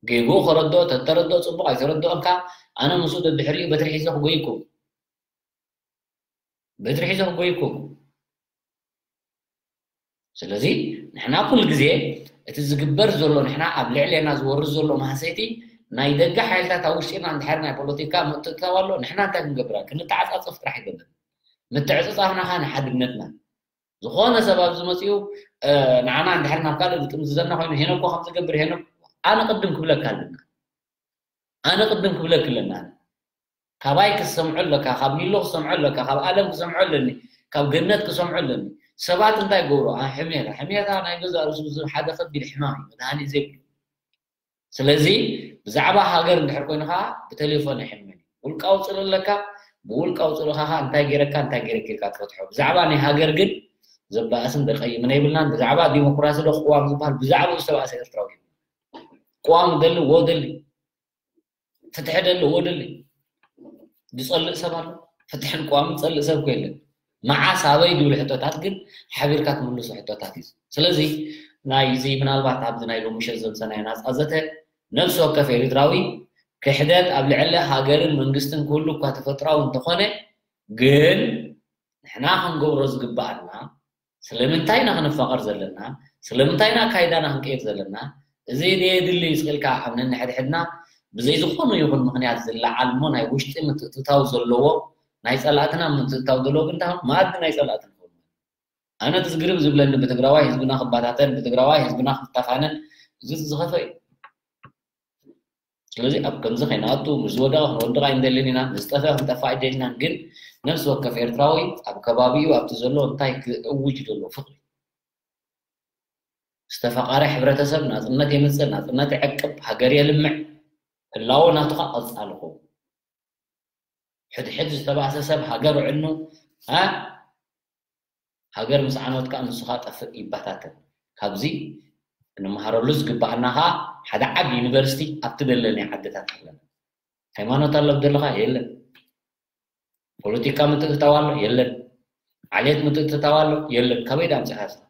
ጌግኡ ከረድኦ፣ ተተረድኦ ፅቡቕ፣ ኣይተረድኦን ከኣ ኣነ ምስኡ ደድሕሪኡ በትሪ ሒዘ ክጎይኩም። በትሪ ሒዘ ክጎይኩም። ስለዚ ንሕና ኩሉ ግዜ እቲ ዝግበር ዘሎ፣ ንሕና ኣብ ልዕሌና ዝወርድ ዘሎ ማህሰይቲ ናይ ደገ ሓይልታት ኣብ ውሽጢና እንድሕር ናይ ፖለቲካ ምትእትታው ኣሎ፣ ንሕና እንታይ ክንገብር? ክንተዓጻጸፍ ጥራሕ ይገብር። ምትዕጽጻፍና ኸኣ ንሓድነትና። ዝኾነ ሰብ ኣብዚ መጺኡ፣ እ፣ ንዓና እንድሕር ናብ ካልእ ዝጥምዝዘና ኮይኑ፣ ሄኖ እኮ ከም ዝገብር፣ ሄኖ፣ ኣነ ቅድም ክብለካ ኣለና። ኣነ ቅድም ክብለክ ኣለና። ካባይ ክሰምዖ ኣለካ፣ ካብ ሚሎ ክሰምዖ ኣለካ፣ ካብ ኣለም ክሰምዖ ኣለኒ፣ ካብ ገነት ክሰምዖ ኣለኒ። ሰባት እንታይ ይገብሩ? ኣ፣ ሕሜታ፣ ሕሜታ ናይ ገዛእ ርእሱ ሓደ ከቢድ ሕማም እዩ፣ መድሃኒት ዘይብሉ። ስለዚ ብዛዕባ ሃገር እንድሕር ኮይኑ ኸዓ ብቴሌፎን ኣይሕመን እዩ። ውልቃዊ ጽልኢ ኣለካ፣ ብውልቃዊ ጽልኢኻ ኸዓ እንታይ ገይረካ፣ እንታይ ገይረኪ ኢልካ ትፈትሖ። ብዛዕባ ናይ ሃገር ግን ዘባእስን ዘቀይምን ኣይብልናን። ብዛዕባ ዲሞክራሲ ዶ ቅዋም ዝበሃል ብዛዕባኡ ዝተባእሰ ኤርትራዊ የለን። ቅዋም ደሊ፣ ዎ ደሊ፣ ፍትሒ ደሊ፣ ዎ ደሊ። ዝጸልእ ሰብ ኣሎ? ፍትሕን ቅዋምን ዝጸልእ ሰብ እኮ የለን። መዓስ፣ ኣበይ ዝብሉ ሕቶታት ግን ሓቢርካ ትምልሶ ሕቶታት እዩ። ስለዚ ናይዚ ምናልባት ኣብዚ ናይ ሎሚ ምሸት ዘምሰናዮ ናጻ ዘተ ነፍሲ ወከፍ ኤርትራዊ ክሕደት ኣብ ልዕሊ ሃገርን መንግስትን ክህሉ እኳ ተፈጥራዊ እንተኾነ፣ ግን ንሕና ክንገብሮ ዝግብኣና ስለምንታይ ኢና ክንፋቐር ዘለና? ስለምንታይ ኢና ኣካይዳና ክንቀይር ዘለና? እዚ ድየ የድሊ እዩ ኢልካ ኣብ ነንሕድሕድና ብዘይ ዝኾነ ይኹን ምኽንያት ዝለዓል እሞ ናይ ውሽጢ ምትእትታው ዘለዎ፣ ናይ ጸላእትና ምትእትታው ዘለዎ ግን እንታይ መኣዲ ናይ ጸላእቲ ንኸውን? ኣነ እቲ ዝግርም ዝብለኒ ብትግራዋይ ህዝብና ክባታተን፣ ብትግራዋይ ህዝብና ክተፋነን፣ እዚ ዝኸፈ እዩ። ስለዚ ኣብ ከምዚ ከይንኣቱ፣ ምስ ዝወደቐ ክንወድቕ ኣይንደልን ኢና፣ ምስ ዝጠፍአ ክንጠፍእ ኣይደልናን። ግን ነፍሲ ወከፍ ኤርትራዊ ኣብ ከባቢኡ ኣብቲ ዘሎ እንታይ ክእውጅ ዘሎ ፍቕሪ። ዝተፈቓረ ሕብረተሰብ ናጽነት የምጽእ፣ ናጽነት ይዕቅብ፣ ሃገር የልምዕ፣ ህላወ ናቱ ኸኣ ቀጻሊ ክኸውን። ሕድሕድ ዝተባእሰ ሰብ ሃገር ዕኑ፣ እ፣ ሃገር ምስ ዓነወት ከኣ ንሱ ኸኣ ጠፍእ ይበታተን። ካብዚ ክንመሃረሉ ዝግብኣና ኸኣ ሓደ ዓቢ ዩኒቨርሲቲ ኣብቲ ዘለናዮ ዓድታት ኣለና። ሃይማኖት ኣሎ ብደለኻ? የለን። ፖለቲካ ምትእትታው ኣሎ? የለን። ዓሌት ምትእትታው ኣሎ? የለን። ካበይ ደኣ ኣምጺኻ እስኻ?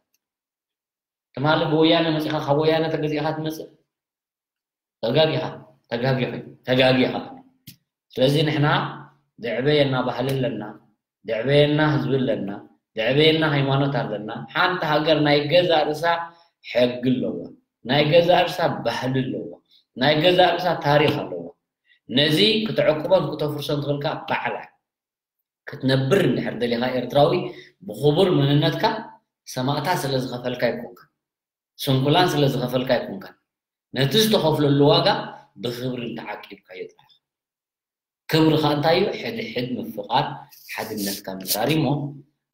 ትማሊ ብወያነ መጺኻ ካብ ወያነ ተገዚእኻ ትመጽእ? ተጋጊኻ፣ ተጋጊኺ፣ ተጋጊኻ። ስለዚ ንሕና ዘዕበየና ባህሊ ኣለና፣ ዘዕበየና ህዝቢ ኣለና፣ ዘዕበየና ሃይማኖት ኣለና። ሓንቲ ሃገር ናይ ገዛእ ርእሳ ሕጊ ኣለዋ፣ ናይ ገዛእ ርእሳ ባህሊ ኣለዋ፣ ናይ ገዛእ ርእሳ ታሪኽ ኣለዋ። ነዚ ክተዕቅቦን ክተፍርሶን ትኽእል ከኣ ባዕላ ክትነብር እንድሕር ደሊኻ ኤርትራዊ ብኽቡር መንነትካ ሰማእታት ስለ ዝኸፈልካ ኣይኮንካን፣ ስንኩላን ስለ ዝኸፈልካ ኣይኮንካን። ነቲ ዝተኸፍለሉ ዋጋ ብኽብሪ እንተዓቂብካዮ ጥራሕ። ክብሪ ኸኣ እንታይ እዩ? ሕድሕድ ምፍቓር፣ ሓድነትካ ምጽራር እዩ እሞ፣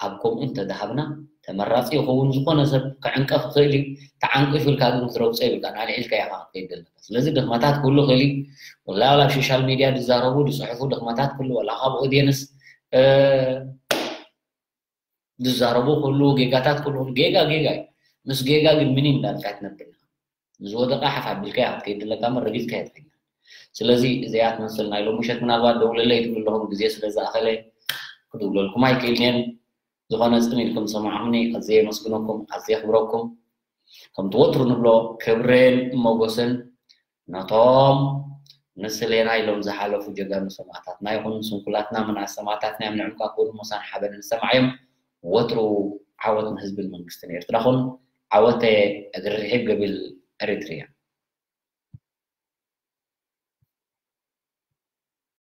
ኣብ ከምኡ እንተደሃብና ተመራጺ ይኸውን። ዝኾነ ሰብ ክዕንቀፍ ይኽእል እዩ። ተዓንቂፉ ኢልካ ግን ክትረግጾ የብልካን። ኣልዒልካ ኢኻ ክትከይድ ዘለካ። ስለዚ ድኽመታት ክህሉ ይኽእል እዩ። ወላ፣ ወላ ኣብ ሶሻል ሚድያ ዝዛረቡ፣ ዝጽሕፉ ድኽመታት ክህሉ፣ ወላ ካብ ኦድየንስ፣ እ፣ ዝዛረቡ ክህሉ፣ ጌጋታት ክህሉ፣ ጌጋ ጌጋ እዩ። ምስ ጌጋ ግን ምንም እንዳልካ ኣይትነብር ኢኻ። ንዝወደቐ ሓፍ ኣቢልካዮ ክትከይድ ኣለካ እምበር ረጊጽካዮ ኣይትኸይድን። ስለዚ እዚኣ ትመስል ናይ ሎሚ ምሸት። ምናልባት ደውለለይ ትብሉ ኣለኹም፣ ግዜ ስለ ዝኣኸለ ክድውለልኩም ኣይክእልን እየ። ዝኾነ ጽን ኢልኩም ዝሰማዕኹምኒ ኣዝየ የመስግነኩም፣ ኣዝየ የኽብረኩም። ከምቲ ወትሩ ንብሎ ክብርን ሞጎስን ነቶም ንስሌና ኢሎም ዝሓለፉ ጀጋኑ ሰማእታትና ይኹን፣ ስንኩላትና ምንኣስ ሰማእታትና እዮም። ንዕም ከኣ ክብርን ሞሳን ሓበንን ዝሰማዕዮም። ወትሩ ዓወት ንህዝብን መንግስትን ኤርትራ ኩን። ዓወተ እግሪ ርሒብ ገቢል ኤሪትሪያ።